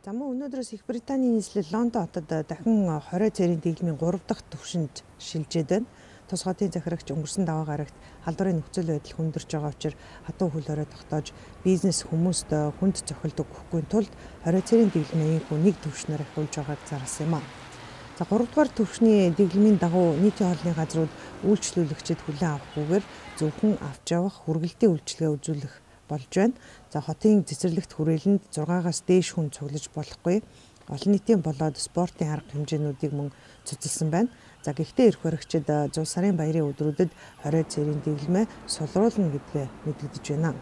За мөн өнөөдрөөс Их Британийн нийслэл Лондон хотод дахин хорой цэрийн дэглэмийн гурав дахь түвшинд шилжээд байна. Тус хотын захирагч өнгөрсөн даваа гарагт халдварын нөхцөл байдал хүндэрч байгаа учраас хатуу хөл хорой тогтоож бизнес хүмүүст хүнд цохилт өгөхгүй тулд хорой цэрийн дэглэмийн энэхүү нэг түвшнээр ахиулж байгааг зарласан юм а. За гурав дахь түвшний дэглэмийн дагуу нийтийн хоолны газрууд үйлчлүүлэгчид хүлээн авахгүйгээр зөвхөн авч явах хүргэлтийн үйлчилгээ үзүүлэх болж байна. За хотын цэцэрлэгт хүрээлэнд зургаагаас дээш хүн цуглаж болохгүй. Олон нийтийн болоод спортын арга хэмжээнүүдийг мөн цуцлсан байна. За гэхдээ эрх баригчид зуун сарын баярын өдрүүдэд хорой цэрийн дэглэмээ сулруулна гэдгээ мэдэгдэж байна.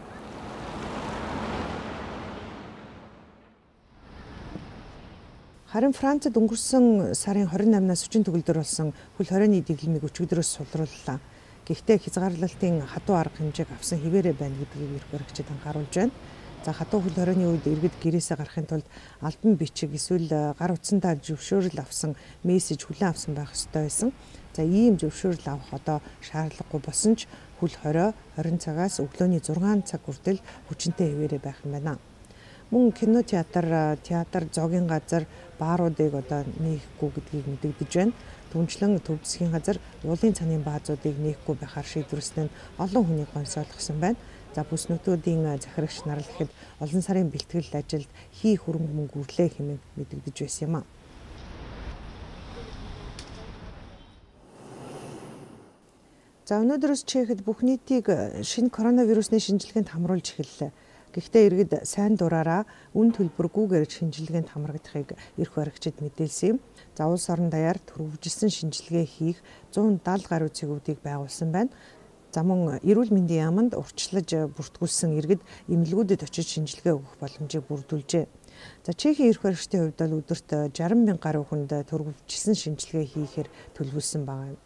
Харин Францад өнгөрсөн сарын хорин намнаас хүчин төгөлдөр болсон хөл хорионы дэглэмийг өчигдрөөс сулрууллаа. Гэхдээ хязгаарлалтын хатуу арга хэмжээг авсан хിവэрэ байна гэдгийг эрх баригчид анхааруулж байна. За хатуу хөл хорионы үед иргэд гэрээсээ гарахын тулд албан бичиг эсвэл гар утсандаа зөвшөөрөл авсан мессеж хүлээн авсан байх ёстой байсан. За ийм зөвшөөрөл авах одоо шаардлагагүй болсон ч хөл хорой хорин цагаас өглөөний зургаан цаг хүртэл хүчинтэй хിവэрэ байх юм байна. Мөн кино театр, театр, зоогийн газар, бааруудыг одоо нээхгүй гэдгийг мэдэгдэж байна. Түнчлэн төв засгийн газар уулын цанын баазуудыг нээхгүй байхаар шийдвэрлсэн нь олон хүнийг гонсойлгосон байна. За бүс нутгуудын захирагч нар л ихэд олон сарын бэлтгэл ажилд хий хөрөнгө мөнгө үрлээ хэмээн мэдэгдэж байсан юм а. За өнөөдрөөс Чехэд бүх нийтийг шинэ коронавирусны шинжилгээнд хамруулж эхэллээ. Гэхдээ иргэд сайн дураараа үн төлбөргүйгээр шинжилгээнд хамрагдахыг эрх баригчид мэдээлсэн юм. За улс орон даяар төрөвжилсэн шинжилгээ хийх зуун даал гаруй цэгүүдийг байгуулсан байна. За мөн эрүүл мэндийн яамд урьдчилаж бүртгүүлсэн иргэд эмнэлгүүдэд очиж шинжилгээ өгөх боломжийг бүрдүүлжээ. За Чехийн эрх баригчдын хувьд бол өдөрт жарган мянган гаруй хүнд төрөвжилсэн шинжилгээ хийхээр төлөвлөсөн байгаа юм.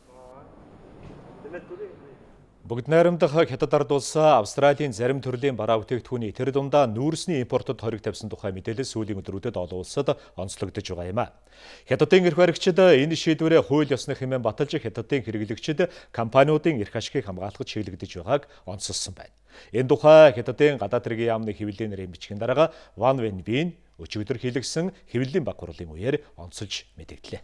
Бүгд найрамдах Хятад ард улс Австралийн зарим төрлийн бараа бүтээгдэхүүний тэр дундаа нүүрсний импортод хориг тавьсан тухай мэдээлэл сүүлийн өдрүүдэд олон улсад онцлогдож байгаа юм а. Хятадын эрх баригчид энэ шийдвэрээ хууль ёсны хэмээн баталж Хятадын хэрэглэгчид компаниудын эрх ашигыг хамгаалахад чиглэгдэж байгааг онцолсон байна. Энэ тухай Хятадын гадаад хэргийн яамны хэвлэлийн нэрийн бичгийн дарга Ван Вэнбин өчигдөр хэлэгсэн хэвлэлийн баг хурлын үеэр онцолж мэдэгдлээ.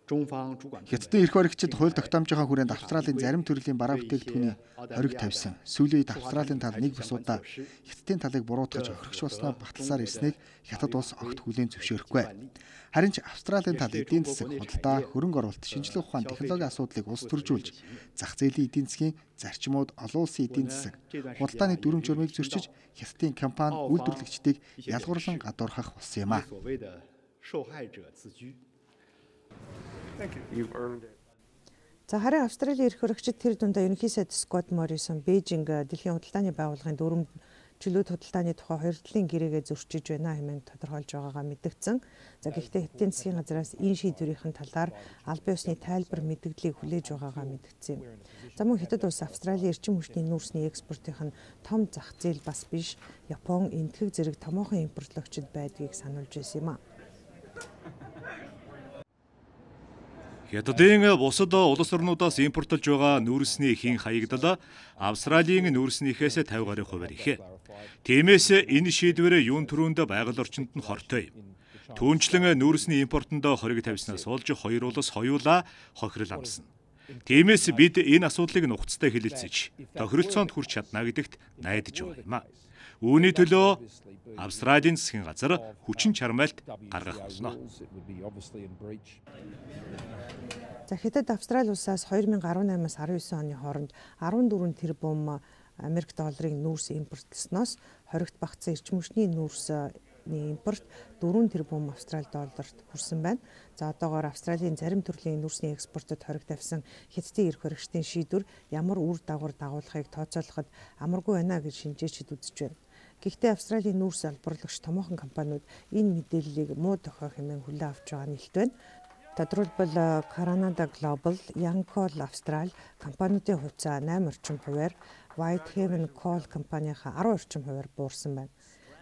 Хятадын эрх баригчид хууль тогтоомжийнхаа хүрээнд Австралийн зарим төрлийн бараа бүтээгдэхүүний хориг тавьсан. Сүүлийн үед Австралийн тал нэг бус удаа Хятадын талыг буруутгаж охирогч болсноо баталсаар ирснийг Хятад улс огт хүлээн зөвшөөрөхгүй. Харин ч Австралийн тал эдийн засаг, худалдаа, хөрөнгө оруулалт, шинжилгээ ухаан, технологийн асуудлыг улс төржүүлж, зах зээлийн эдийн засгийн зарчмууд, олон улсын эдийн засаг, худалдааны дүрм журмыг зөрчиж, Хятадын компани үйлдвэрлэгчдийг ялгуурлан гадуурхах болсон юм а. За харин Австралийн эрх баригчид тэр дундаа ерөнхий сайд Скот Моррисон Бээжинг дэлхийн худалдааны байгууллагын дүрм чөлөөт худалдааны тухай хоёр талын гэрээгээ зөрчиж байна хэмээн тодорхойлж байгаагаа мэдгдсэн. За гэхдээ Хятадын засгийн газраас энэ шийдвэрийн талаар албан ёсны тайлбар мэдгдлийг хүлээж байгаагаа мэдгдсэн юм. За мөн Хятад улс Австралийн эрчим хүчний нүүрсний экспортын нь том зах зээл бас биш, Япон, энэтхэг зэрэг томоохон импортлогчид байдгийг сануулж байсан юм а. Хятадын бусад улс орнуудаас импортлж байгаа нүүрсний хийн хаягдал Австралийн нүүрснийхээс пятьдесят гаруй хувиар их. Тиймээс энэ шийдвэр юун төрөнд байгаль орчинд нь хортой юм. Түүнчлэн нүүрсний импортонд хориг тавьснаас болж хоёр улс хоёулаа хохирол амсна. Тиймээс бид энэ асуудлыг нухацтай хэлэлцэж, тохиролцоонд хүрч чадна гэдэгт найдаж байгаа юм а. Үүний төлөө Австралийн засгийн газар хүчин чармайлт гаргах болно. За Хятад Австрали улсаас две тысячи десять-аас десятдесет оны хооронд арван дөрвөн тэрбум Америк долларын нүүрс импортлсноос хоригт багтсан эрчим хүчний нүүрсний импорт дөрвөн тэрбум Австрали долларт хүрсэн байна. За одоогоор Австралийн зарим төрлийн нүүрсний экспортод хориг тавьсан Хятадын эрх баригчдын шийдвэр ямар үр дагавар дагуулахыг тооцоолоход амаргүй байна гэж шинжээчид үзэж байна. Гэхдээ Австралийн нүүрс албарлагч томоохон компаниуд энэ мэдээллийг муу дохио хэмээн хүлээн авч байгаа нь илт байна. Тодорхойлбол Canada Global, Yancoal Австрали компаниудын хувьцаа найман орчим хувиар, Whitehaven Coal компанийнхаа арван орчим хувиар буурсан байна.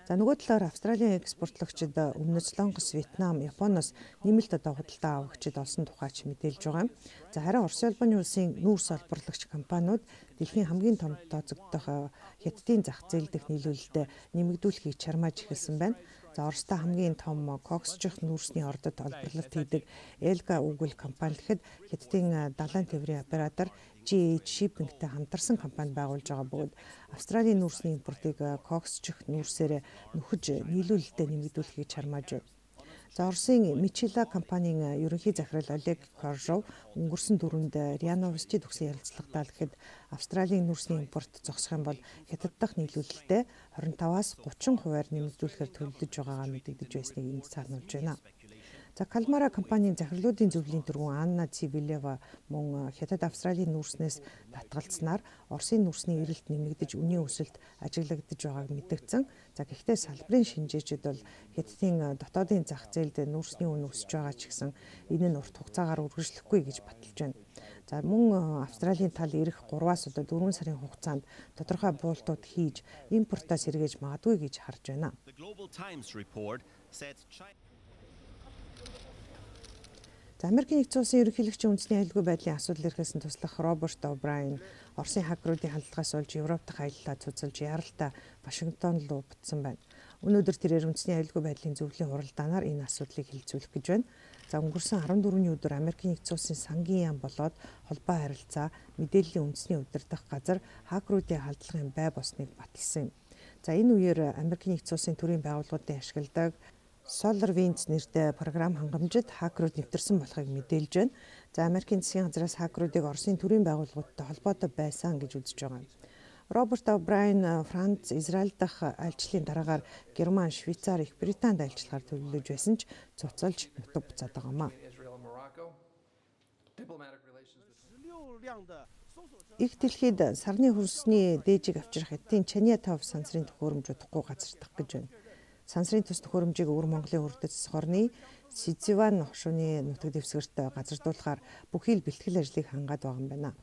За нөгөө талаар Австралийн экспортлогчид өмнөд Солонгос, Вьетнам, Японоос нэмэлт одоо худалдаа авагчид олсон тухайч мэдээлж байгаа юм. За харин Оросын улбаны улсын нүүрс олборлагч компаниуд дэлхийн хамгийн том тооцогдох хятадын зах зээл дэх нийлүүлэлтэд нэмэгдүүлэхийг чармааж эхэлсэн байна. За Оростой хамгийн том коксжих нүүрсний ордод олборлолт хийдэг Elga Ugal компани гэхэд хятадын далайн тээврийн оператор G H Shipping-тэй хамтарсан компани байгуулж байгаа бөгөөд Австралийн нүүрсний импортыг коксжих нүүрсээр нөхөж нийлүүлэлтэд нэмэгдүүлэхийг чармааж байна. За Оросын Мичила компанийн ерөнхий захирал Олег Коржов өнгөрсөн дөрөвд РИА Новостид өгсөн ярилцлагатаа гэхэд Австралийн нүүрсний импорт зогсох юм бол хятад дахь нийлүүлэлтэд хорин таваас гучин хувиар нэмэгдүүлэхээр төлөвлөж байгаагаа мэдэгдэж байсныг энд сануулж байна. За Калмара компанийн захирлуудын зөвлөлийн тэргүүн Анна Цивилева мөн хятад Австралийн нүүрснээс татгалцснаар Оросын нүүрсний эрэлт нэмэгдэж үнийн өсөлт ажиглагдаж байгааг мэдгдсэн. За гэхдээ салбарын шинжээчид бол хятадын дотоодын зах зээлд нүүрсний үн өсөж байгаа ч гэсэн энэ нь урт хугацаагаар үргэлжлэхгүй гэж баталж байна. За мөн Австралийн тал ирэх гураваас одоо дөрвөн сарын хугацаанд тодорхой буултууд хийж импортоос сэргээж магадгүй гэж харж байна. За Америкийн нэгдсэн улсын ерөнхийлөгчийн үндэсний аюулгүй байдлын асуудал эрхээс нь туслах Роберт О'Брайен Оросын хакеруудын хандлагаас олж Европ дахь аяллаа цуцалж яралтай Вашингтон руу буцсан байна. Өнөөдөр тэрээр үндэсний аюулгүй байдлын зөвлөлийн хуралдаанаар энэ асуудлыг хилцүүлэх гэж байна. За өнгөрсөн арван дөрөвний өдөр Америкийн нэгдсэн улсын сангийн яам болоод холбоо харилцаа мэдээллийн үндэсний удирдах газар хакеруудын халдлагын бай босныг баталсан юм. За энэ үеэр Америкийн нэгдсэн улсын төрийн байгууллагуудын ашигладаг SolarWinds нэртэй програм хангамжид хакерууд нэвтэрсэн болохыг мэдээлж байна. За Америкийн засгийн газраас хакеруудыг Оросын төрийн байгууллагуудтай холбоотой байсан гэж үзэж байгаа юм. Роберт О'Брайен Франц, Израиль дахь айлчлалын дараагаар Герман, Швейцар, Их Британд айлчлахаар төлөвлөж байсан ч цуцалж нутаг буцаад байгаамаа. Их дэлхийд сарны хөрсний дээжийг авчрах эдийн Чаньятав сансрын төхөөрөмж удахгүй газардах гэж байна. Сансрын төс төхөөрөмжийг өвөр Монголын үрдэс хорны Сизиван хошууны нутаг дэвсгэрт газардуулахаар бүхий л бэлтгэл ажлыг хангаад байгаа юм байна.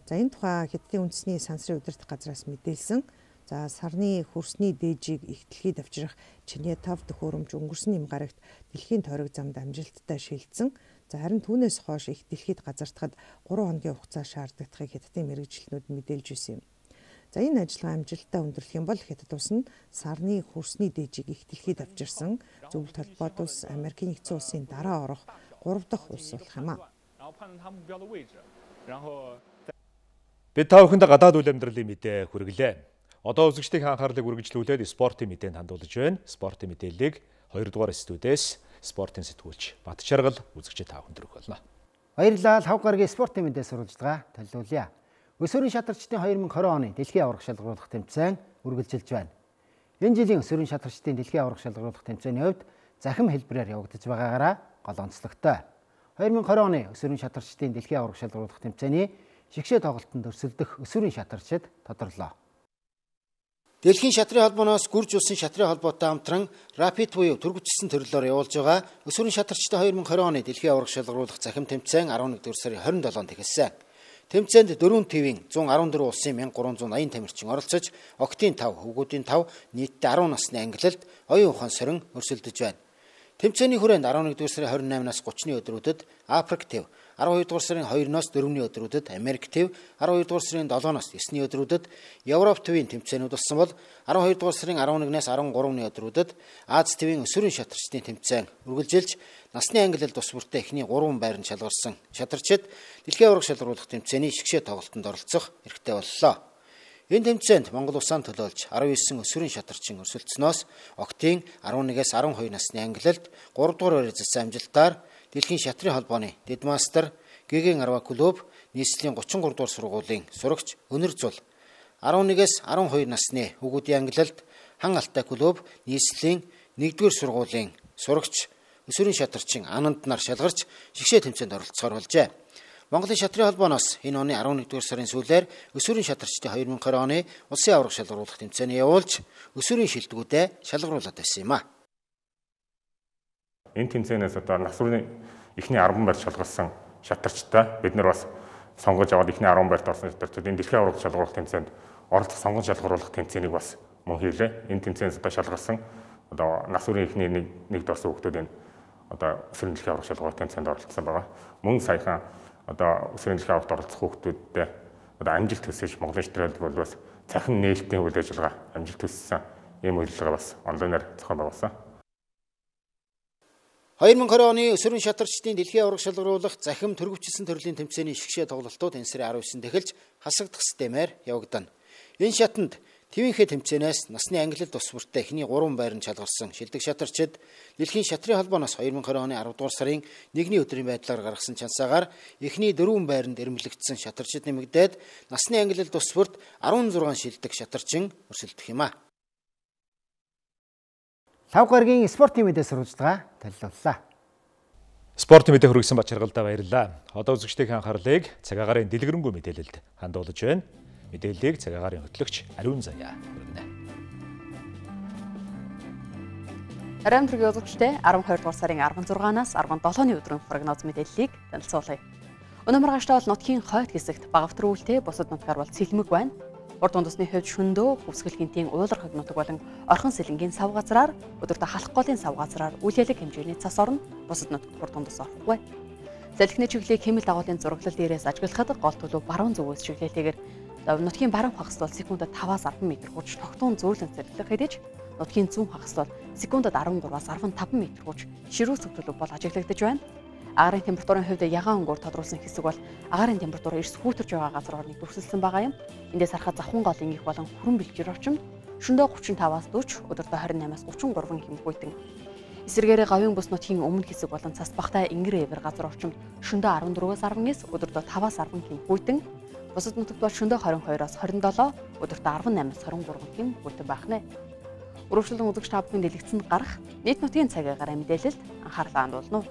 За энэ тухай Хятадын үндэсний сансрын удирдах газраас мэдээлсэн. За сарны хөрсний дээжийг их дэлхийд авчрах Чаньятав төхөөрөмж өнгөрсөн юм гарагт дэлхийн тойрог замд амжилттай шилжсэн. За харин түүнээс хойш их дэлхийд газардахад гурван хоногийн хугацаа шаардлагатахыг Хятадын мэргэжилтнүүд мэдээлж ирсэн юм. За энэ ажиллагаа амжилттай өндөрлөх юм бол Хятад улс нь сарны хөрсний дээжийг их дэлхийд авчирсан зөвлөлт холбоот улс Америкийн нэгдсэн улсын дараа орох гурав дахь улс болох юм а. Бид та бүхэнд гадаад үйл амьдралын мэдээ хүргэлээ. Одоо үзэгчдийн анхаарлыг үргэлжлүүлээд спортын мэдээнд хандуулж байна. Спортын мэдээллийг хоёрдугаар студиэс спортын сэтгүүлч Бат Чаргал үзэгчид та бүхэнд хүргэх болно. Баярлалаа. Лав гарагийн спортын мэдээ сурвалжлага төлөвлөе. Өсвөрийн шатарчдын две тысячи двадцать оны дэлхийн аварга шалгаруулах тэмцээн үргэлжилж байна. Энэ жилийн өсвөрийн шатарчдын дэлхийн аварга шалгаруулах тэмцээний хувьд захим хэлбэрээр явагдаж байгаагаараа гол онцлогтой. две тысячи двадцать оны өсвөрийн шатарчдын дэлхийн аварга шалгаруулах тэмцээний шигшээ тоглолтод өрсөлдөх өсвөрийн шатарчид тодорлоо. Дэлхийн шатрын холбооноос гүрж улсын шатрын холбоотой хамтран Rapid буюу түргүчсэн төрлөөр явуулж байгаа өсвөрийн шатарчдын две тысячи двадцать оны дэлхийн аварга шалгаруулах захим тэмцээн eleven сарын twenty sevenнд эхэлсэн. Тэмцээнд дөрвөн тивийн one hundred fourteen улсын one thousand three hundred eighty тамирчин оролцож, октийн five, хөвгүүдийн five, нийтдээ ten насны ангилалд оюун ухаан сорин өрсөлдөж байна. Тэмцээний хүрээнд eleven сарын twenty-eight-наас thirty-ны өдрүүдэд Африк тив, twelve сарын two-ноос four-ны өдрүүдэд Америк тив, twelve сарын seven-ноос nine-ны өдрүүдэд Европ тивийн тэмцээнүүд болсон бол twelve сарын eleven-наас thirteen-ны өдрүүдэд Аз тивийн өсвөрийн шатарчдын тэмцээн үргэлжилж насны ангилалд тус бүртээ эхний гурван байранд шалгарсан шатарчид дэлхийн аварга шалгаруулах тэмцээний шигшээ тоглолтод оролцох эрхтэй боллоо. Энэ тэмцээнд Монгол улсаа төлөөлж nineteen өсвөрийн шатарчин өрсөлдснөөс октийн eleven-ээс twelve насны ангилалд three дугаар байр зассан амжилтаар дэлхийн шатрын холбооны Дедмастер, Гэгийн Арва клуб, нийслэлийн thirty-three дугаар сургуулийн сурагч Өнөр Зул, eleven-ээс twelve насны хөвгүүдийн ангилалд Хан Алтай клуб, нийслэлийн one дугаар сургуулийн сурагч өсвөрийн шатарчин Ананд нар шалгарч шигшээ тэмцээнд оролцохоор болжээ. Монголын шатрын холбооноос энэ оны eleven дугаар сарын сүүлээр өсвөрийн шатарчдын twenty twenty оны улсын аварга шалгаруулах тэмцээний явуулж өсвөрийн шилдэгүүдээ шалгаруулад байсан юм а. Энэ тэмцээнээс одоо насварны эхний арван байр шалгалсан шатарчтай бид нар бас сонгож аваад эхний арван байрт орсон шатарчид энэ дэлхийн аварга шалгаруулах тэмцээнд оролцох сонгон шалгаруулах тэмцээнийг бас мөн хийлээ. Энэ тэмцээнээс шалгалсан одоо нас үрийн эхний нэг нэгд орсон хүүхдүүд энэ одоо өсвөрийн дэлхийн аварга шалгаруулах тэмцээнд оролцсон байгаа. Мөн саяхан одоо өсвөрийн дэлхийн аваргад оролцох хүүхдүүдтэй одоо амжилт төсөж Монголын шатралд бол бас цахим нээлтийн үйл ажиллагаа амжилт төссөн ийм үйл ажиллагаа бас онлайнаар зохион байгуулсан. две тысячи двадцать оны өсвөрийн шатарчдын дэлхийн аварга шалгаруулах захим төрөвчлсөн төрлийн тэмцээний шгшээ тоглолтууд энэ сарын арав девятнээс эхэлж хасагдах системээр явагдана. Энэ шатанд твинхэ тэмцээнээс насны ангилал тус бүртээ эхний гурван байранд шалгарсан шилдэг шатарчид дэлхийн шатрын холбооноос две тысячи двадцать оны арав дугаар сарын нэгний өдрийн байдлаар гаргасан чансаагаар эхний дөрвөн байранд эрмэлэгдсэн шатарчид нэмэгдээд насны ангилал тус бүрт десять шилдэг шатарчин өрсөлдөх юм а. лав гарагийн спортын мэдээ сурвалжлага танилцууллаа. Спортын мэдээ хүргэсэн бачаргалдаа баярлалаа. Одоо үзэгчдийн анхаарлыг цаг агарын дэлгэрэнгүй мэдээлэлд хандуулж байна. Мэдээллийг цаг агарын хөтлөгч Ариун Заяа хүргэнэ. Ариун төргийн үзэгчдээ арван хоёр дугаар сарын арван зургаанаас арван долооны өдрийн прогноз мэдээллийг танилцуулъя. Өнөө маргааштай бол нутгийн хойд хэсэгт багавтар үүлтэй бусад нутгаар бол сэлмэг байна. Урд дундасны хувьд шөндөө, Хөвсгөл гинтийн уулархаг нутаг болон Орхон сэлэнгийн сав газраар өдөртөө халах голын сав газраар үйл ялэг хэмжээний цас орно, бусад нутагт урд дундас орохгүй. Салхины чиглэлийг хэмэл дагуулын зураглал дээрээс ажиглахад гол төлөв баруун зүгээс чиглэлтэйгээр нутгийн баруун хагас бол секундэд таваас арван метр хурж тогтун зөөлөн цэцэрлэг хэдэж, нутгийн зүүн хагас бол секундэд арван гураваас арван таван метр хурж ширүүс төлөв бол ажиглагдаж байна. Агаарын температурын хувьд ягаан өнгөөр тодруулсан хэсэг бол агаарын температур эрс хүүтэрж байгаа газар орныг дүрсэлсэн байгаа юм. Эндээс харахад завхан голын их болон хүрэн бэлчээр орчимд шөндөө тридцать таваас forty, өдөртөө двадцать eight-аас thirty-three хэмээх буйтан. Эсвэргээрээ гавийн бүс нутгийн өмнө хэсэг болон цас багтай Ингэр эвэр газар орчимд шөндөө fourteen-аас ten, өдөртөө five-аас ten хэмээх буйтан. Бусад нутагт бол шөндөө twenty-two-аас twenty-seven, өдөртөө eighteen-аас twenty-three хэмээх буйтан байна. Өрөвчлөн үзэгч та бүхэн дэлгэцэнд гарах нийт нутгийн цаг агаар мэдээлэлд анхаарлаа хандуулна.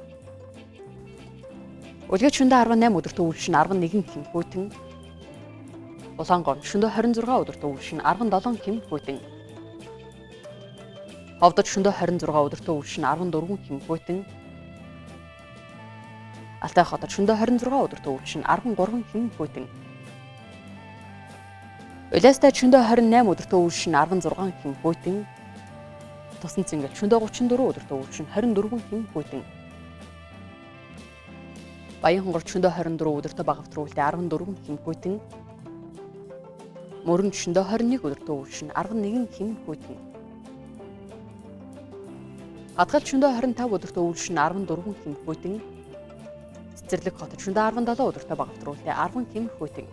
Үлгэж шөндөө eighteen, өдөртөө үлшин eleven хэмээх буйтан. Улаангор шөндөө twenty-six, өдөртөө үлшин seventeen хэмээх буйтан. Ховдод шөндөө twenty-six, өдөртөө үлшин fourteen хэмээх буйтан. Алтай хотод шөндөө twenty-six, өдөртөө үлшин thirteen хэмээх буйтан. Улаастай шөндөө twenty-eight, өдөртөө үлшин sixteen хэмээх буйтан. Тусан цэнгэл шөндөө thirty-four, өдөртөө үлшин twenty-four хэмээх буйтан. Баян хонгор шөндөө twenty-four, өдөртөө багавтар үүлтэй fourteen хэмээх буйтан. Мөрөн шөндөө twenty-one, өдөртөө үлшин eleven хэмээх буйтан. Хатгал шөндөө twenty-five, өдөртөө үлшин fourteen хэмээх буйтан. Цэцэрлэг хотод шөндөө seventeen, өдөртөө багавтар үүлтэй ten хэмээх буйтан.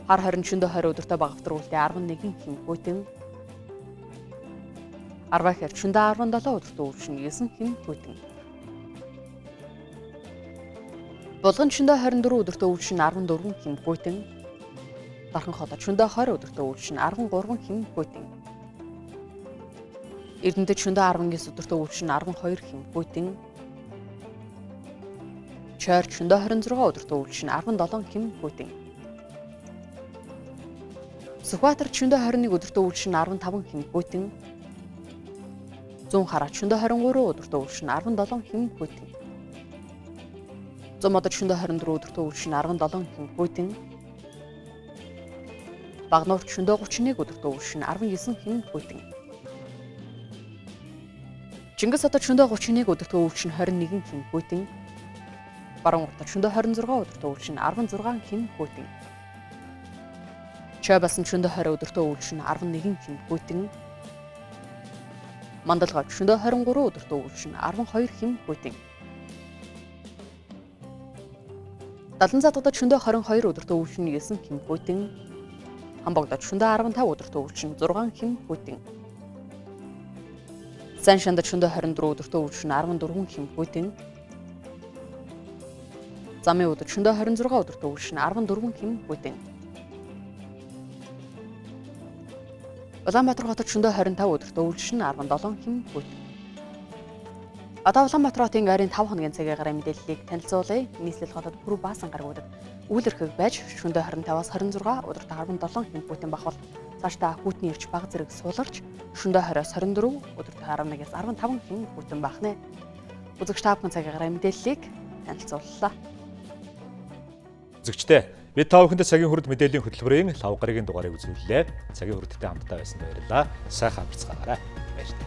Хар хорин шөндөө twenty, өдөртөө багавтар үүлтэй eleven хэмээх буйтан. Арвахэр шөндөө seventeen, өдөртөө үлшин nine хэмээх буйтан. Булган шөндөө twenty-four, өдөртөө үлшин fourteen хэмээх буйтан. Дархан хотод шөндөө twenty, өдөртөө үлшин thirteen хэмээх буйтан. Эрдэнэтэд шөндөө nineteen, өдөртөө үлшин twelve хэмээх буйтан. Чойр шөндөө twenty-six, өдөртөө үлшин seventeen хэмээх буйтан. Сүхбаатар шөндөө twenty-one, өдөртөө үлшин fifteen хэмээх буйтан. Зүүн хараа шөндөө twenty-three, өдөртөө үлшин seventeen хэмээх буйтан. Зумодод шөндөө twenty-four, өдөртөө үлшин seventeen хэмээх буйтан. Багнуурт шөндөө thirty-one, өдөртөө үлшин nineteen хэмээх буйтан. Чингис хотод шөндөө thirty-one, өдөртөө үлшин twenty-one хэмээх буйтан. Баруун уртад шөндөө twenty-six, өдөртөө үлшин sixteen хэмээх буйтан. Чойбасан шөндөө twenty, өдөртөө үлшин eleven хэмээх буйтан. Мандалгавд шөндөө twenty-three, өдөртөө үлшин twelve хэмээх буйтан. Далан задгадад шөндөө twenty-two, өдөртөө үлшин nine хэмээх буйтан. Хамбогдод шөндөө fifteen, өдөртөө үлшин six хэмээх буйтан. Сан шандад шөндөө twenty-three, өдөртөө үлшин fourteen хэмээх буйтан. Замын өдөр шөндөө twenty-six, өдөртөө үлшин fourteen хэмээх буйтан. Улаанбаатар хотод шөндөө twenty-five, өдөртөө үлшин seventeen хэмээх буйтан. Одоо Улаанбаатар хотын ойрын five хоногийн цагийн гараа мэдээллийг танилцуулъя. Нийслэл хотод бүр баасан гаргуудад үйл өрхөг байж шөндөө twenty-five-аас twenty-six, өдөртөө seventeen хэмээх буйтан бахвал цаашдаа хүүтний ирч баг зэрэг суулгарч шөндөө twenty-аас twenty-four, өдөртөө eleven-аас fifteen хэмээх буйтан бахнэ. Үзэгч та бүхэн цагийн гараа мэдээллийг танилцууллаа. Үзэгчдээ бид та бүхэнд цагийн хүрд мэдээллийн хөтөлбөрийн лав гарагийн дугаарыг үзүүллээ. Цагийн хүрдтэй хамтдаа байсан баярлалаа. Сайхан амарцгаагаарай. Баярлалаа.